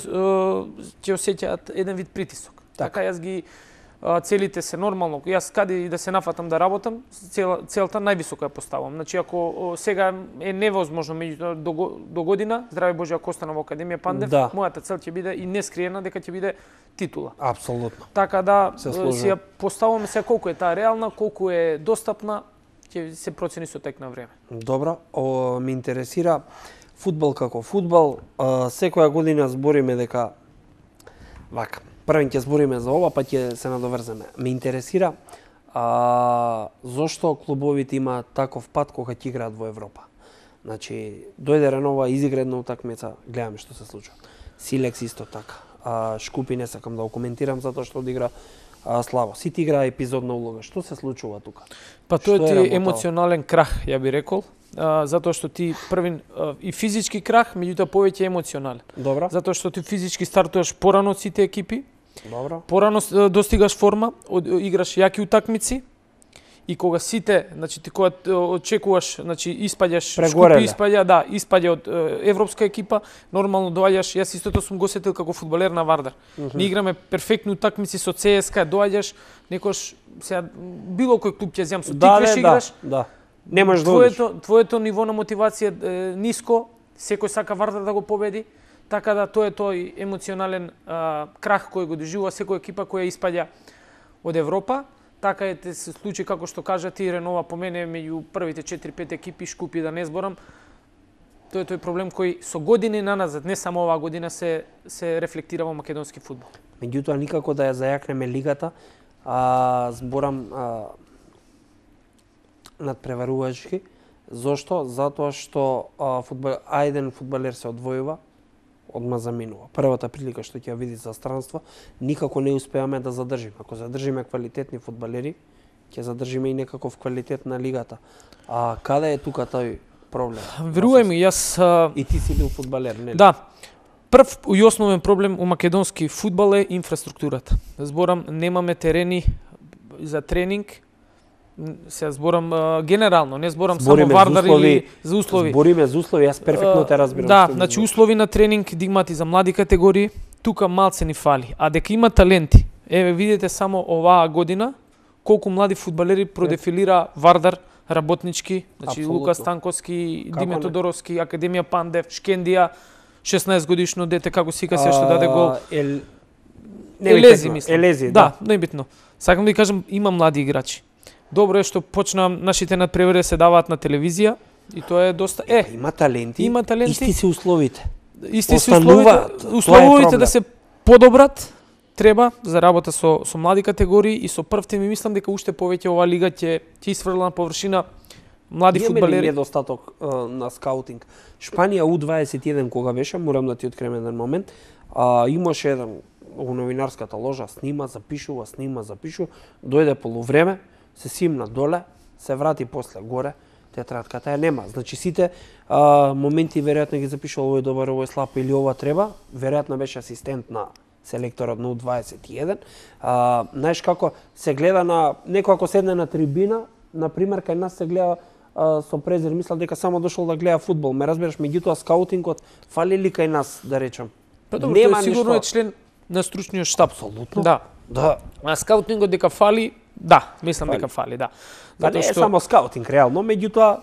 осеќаат еден вид притисок. Така јас ги целите се нормално. Јас каде и да се нафатам да работам, целта највисока ја поставам. Значи ако сега е невозможно меѓутоа до година, здраве Боже ако останам во Академија Пандев, мојата цел ќе биде и нескриена дека ќе биде титула. Апсолутно. Така да си ја поставаме се колку е таа реална, колку е достапна, ќе се процени со тек на време. Добро, ме интересира фудбал како фудбал, секоја година збориме дека вака. Првен ќе збориме за ова, па ќе се надоврземе. Ме интересира зошто клубовите имаат таков пат кога ќе играат во Европа. Значи, дојде Ренова, изигра една утакмица, гледаме што се случува. Силекс исто така. Шкупи не сакам да го коментирам затоа што одигра слабо. Сите играа епизодна улога. Што се случува тука? Па тоа е емоционален крах, ја би рекол. Затоа што ти првин и физички крах, меѓутоа повеќе емоционален. Добро. Затоа што ти физички стартуваш порано од сите екипи. Добро. Порано достигаш форма, играш јаки утакмици и кога сите, значи ти кога очекуваш, значи испаѓаш, Шкупи испаѓа од европска екипа, нормално доаѓаш, јас истото сум го сетил како фудбалер на Вардар. Ни играме перфектни утакмици со ЦСКА, доаѓаш, некош сега било кој клуб ќе земам со тиквеш играш. Да. Немаш да одиш. Твоето ниво на мотивација е ниско, секој сака Вардар да го победи. Така да тоа е тој емоционален крах кој го доживува секоја екипа која испаѓа од Европа. Така е се случи како што кажа ти, Ренова по мене меѓу првите 4-5 екипи, Шкупи да не зборам. Тоа е тој проблем кој со години наназад, не само оваа година се рефлектира во македонски фудбал. Меѓутоа никако да ја зајакнеме лигата, зборам надпреварувачки. Зошто? Затоа што еден фудбалер се одвојува, одма заминува. Првата прилика што ќе ја види за странство, никако не успеаме да задржиме. Ако задржиме квалитетни фудбалери, ќе задржиме и некаков квалитет на лигата. Каде е тука тој проблем? Верувај ми, јас... И ти си бил фудбалер, нели? Да. Прв и основен проблем у македонски фудбал е инфраструктурата. Зборам, немаме терени за тренинг. Се зборам генерално, не зборам само Вардар или за услови. Збориме за услови, јас перфектно те разбирам. Да, значи услови на тренинг дигмати за млади категории, тука малце ни фали. А дека има таленти, еве видите само оваа година колку млади фудбалери продефилира Вардар, Работнички, значи Апсолутно. Лука Станковски, Диме Тодоровски, Академија Пандев, Шкендија, 16 годишно дете како сика се што даде гол. Елези, мислам. Елези, да, небитно. Сакам да ви кажам, има млади играчи. Добро е што почна нашите надпревари се даваат на телевизија и тоа е доста има таленти. Има таленти. Исти се условите. Исти се условите да се подобрат. Треба за работа со млади категории и со првте ми мислам дека уште повеќе оваа лига ќе исфрла на површина млади фудбалери. Има недостаток на скаутинг. Шпанија U21 кога беше, морам да ти открием еден момент, имаше еден во новинарската ложа, снима, запишува, дојде полувреме, се симна доле, се врати после горе, тетрадката ја нема. Значи сите моменти веројатно ги запишува овој добар, овој слаб или ова треба, веројатно беше асистент на селекторот на U21. Знаеш како се гледа на некој ако седне на трибина, на пример кај нас се гледа со презир, мислам дека само дошол да гледа фудбал. Ме разбираш, меѓутоа скаутингот фали ли кај нас, да речам? Па добро, тој сигурно е член на стручниот штаб. Апсолутно. Да. А скаутингот дека фали, да, мислам дека фали, да. Па не е само скаутинг реално, меѓутоа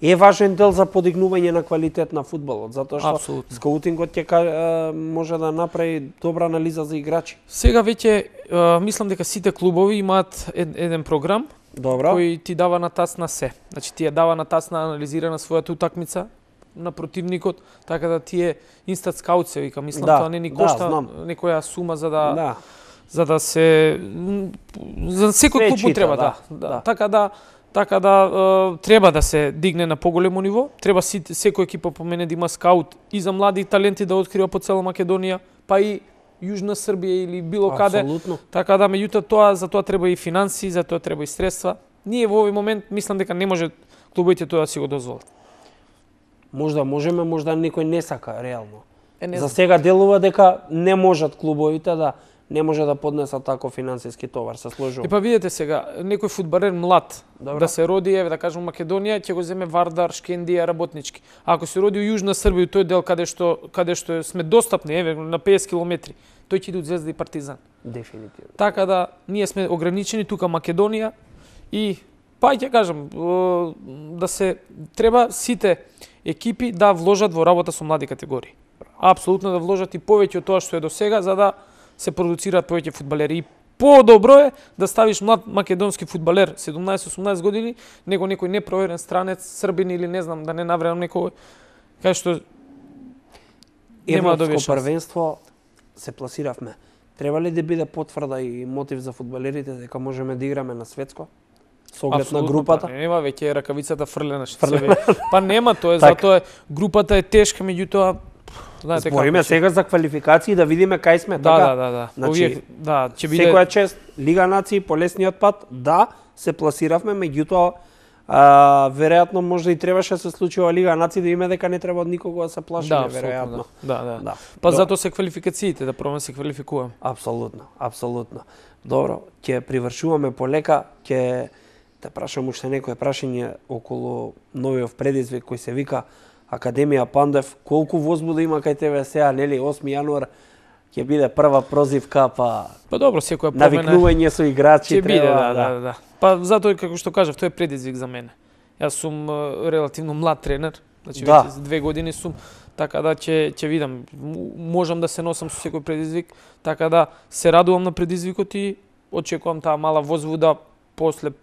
е важен дел за подигнување на квалитет на фудбалот, затоа што скаутингот ќе може да направи добра анализа за играчи. Сега веќе мислам дека сите клубови имаат еден програм кој ти дава на тацна се. Значи ти ја дава на тацна анализира на својата утакмица на противникот, така да ти е инстант скаут се вика, мислам тоа не ни кошта некоја сума за да се за секој клуб треба, да. Така да треба да се дигне на поголемо ниво, треба секој екипа по мене да има скаут и за млади таленти да открива по цела Македонија, па и Јужна Србија или било каде. Така да, меѓутоа за тоа треба и финанси, за тоа треба и средства. Ние во овој момент мислам дека не може клубовите тоа да си го дозволат. Можда можеме, можда некој не сака реално. За сега делува дека не можат клубовите не може да поднесат тако финансиски товар, се сложува. Па видете сега, некој фудбалер млад да се роди, еве да кажем Македонија, ќе го земе Вардар, Шкендија, Работнички. Ако се роди во Јужна Србија, тој дел каде што сме достапни, еве на 50 километри, тој ќе иде од Звезда и Партизан. Дефинитивно. Така да ние сме ограничени тука Македонија и па ќе кажам да се треба сите екипи да вложат во работа со млади категории. Апсолутно да вложат и повеќе од тоа што е до сега за да се продуцираат повеќе фудбалери. И подобро е да ставиш млад македонски фудбалер 17-18 години, него некој непроверен странец, србин или не знам, да не навредам некој кај што нема да добиеш. Европско првенство се пласиравме. Треба ли да биде потврда и мотив за фудбалерите дека можеме да играме на светско? Со оглед на групата? Па нема, веќе е ракавицата фрлена. Па нема, тоа е затоа групата е тешка, меѓутоа збориме сега за квалификации да видиме кај сме, така? Да. Значи, ќе биде секоја чест Лига нации по лесниот пат, се пласиравме, меѓутоа веројатно може и требаше да се случи ова Лига нации да име дека не треба од никого да се плашиме, веројатно. Да. Па затоа се квалификациите, да пробаме се квалификуваме. Апсолутно. Добро, ќе привршуваме полека, ќе те прашам уште некој прашање околу новиот предизвик кој се вика Академија Пандев. Колку возбуда има кај тебе сега, нели, 8 јануар ќе биде прва прозивка, па добро, секоја промена. Навикнување со играчи ќе биде, да. Па затоа како што кажав, тоа е предизвик за мене. Јас сум релативно млад тренер, значи веќе 2 години сум, така да ќе видам, можам да се носам со секој предизвик, така да се радувам на предизвикот и очекувам таа мала возбуда после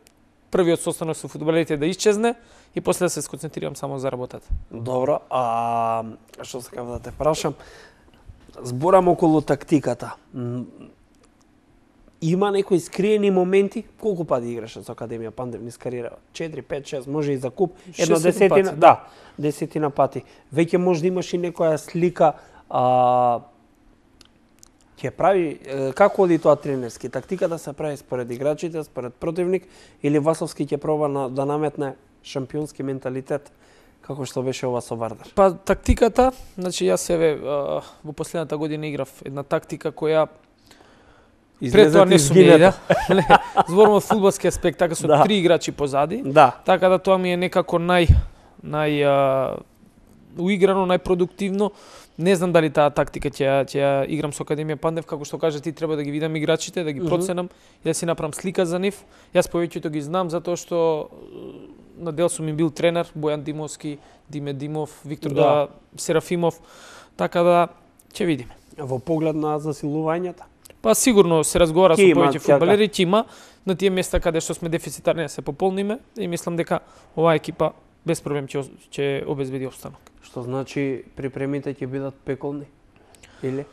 првиот состанок со фудбалерите да исчезне и после да се сконцентрирам само за работата. Добро, што сакам да те прашам, зборам околу тактиката. Има некои скриени моменти? Колку пати играше со Академија Пандев низ кариера? 4, 5, 6, може и за куп, едно десетина, десетина пати. Веќе може да имаш и некоја слика, ќе прави, како оди тоа тренерски? Тактиката се прави според играчите, според противник, или Васовски ќе проба да наметне шампионски менталитет како што беше ова со Вардар? Па тактиката, значи јас во последната година играв една тактика која пред тоа не сум ја. Зборувам од фудбалски аспект, така со 3 играчи позади. Така да тоа ми е некако уиграно, најпродуктивно. Не знам дали таа тактика ќе ја играм со Академија Пандев, како што кажа ти, треба да ги видам играчите, да ги проценам и да си направам слика за нив. Јас повеќето ги знам затоа што на дел сум им бил тренер, Бојан Димовски, Диме Димов, Виктор Серафимов, така да ќе видиме. Во поглед на засилувањата? Па сигурно се разговара со повеќе фудбалери, ќе има на тие места каде што сме дефицитарни да се пополниме и мислам дека оваа екипа без проблем ќе обезбеди опстанок. Што значи припремите ќе бидат пеколни? Или?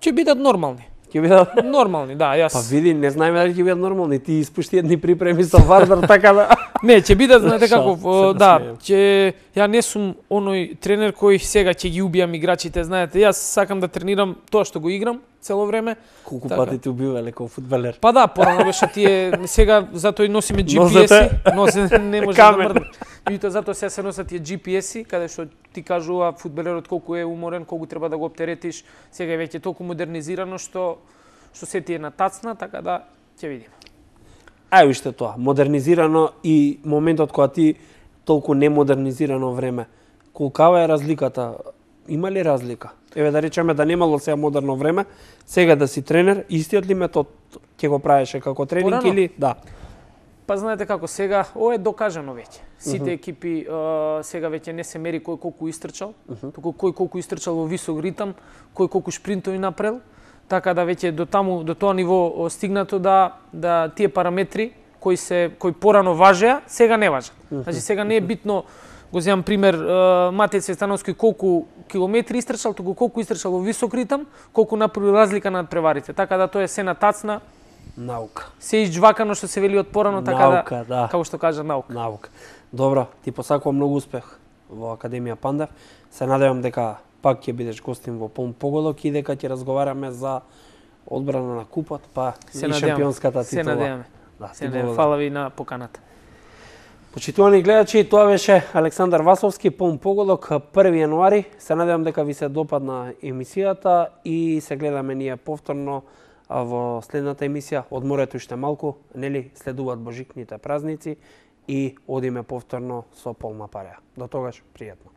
Ќе бидат нормални. Ќе бидат нормални, да, јас. Па види, не знаеме дали ќе бидат нормални, ти испушти едни припреми со Вардар, така да. Не, ќе бидат, знаете како, да, ја не сум оној тренер кој сега ќе ги убијам играчите, знаете, јас сакам да тренирам тоа што го играм цело време. Колку пати те убивале како фудбалер? Па да, порано беше тие, сега затоа и носиме GPS-и, не може да мрдне. И тоа затоа сега се носат тие GPS-и, каде што ти кажува фудбалерот колку е уморен, колку треба да го оптеретиш. Сега е веќе толку модернизирано што се ти е на тацна, така да ќе видиме. Ај уште тоа, модернизирано и моментот кога ти толку немодернизирано време. Колкава е разликата? Има ли разлика? Еве да речеме да немало сега модерно време, сега да си тренер, истиот ли метод ќе го правеше како тренинг или да? Па знаете како, сега ова е докажано веќе. Сите екипи сега веќе не се мери кој колку истрчал, туку кој колку истрчал во висок ритам, кој колку шпринтови направил. Така да веќе до тоа ниво стигнато да тие параметри кои порано важеа, сега не важат. Значи сега не е битно, го земам пример, Матеј Цветановски колку километри истрчал, туку колку истрчал во висок ритам, колку направи разлика над преварите. Така да тоа е се на тацна. Наука. Се изџвакано што се вели од порано, така да, како што кажа, наука. Наука. Добро, ти посакувам многу успех во Академија Пандев. Се надевам дека пак ќе бидеш гостин во полн поголок и дека ќе разговараме за одбрана на купот, па и шампионската титула. Се надеваме. Да, фала ви на поканата. Почитувани гледачи, тоа беше Александар Васовски, полн поголок, 1 јануари. Се надевам дека ви се допадна емисијата и се гледаме ние повторно во следната емисија. Одморете уште малку, нели, следуваат божикните празници и одиме повторно со полна пареа. До тогаш, пријатно.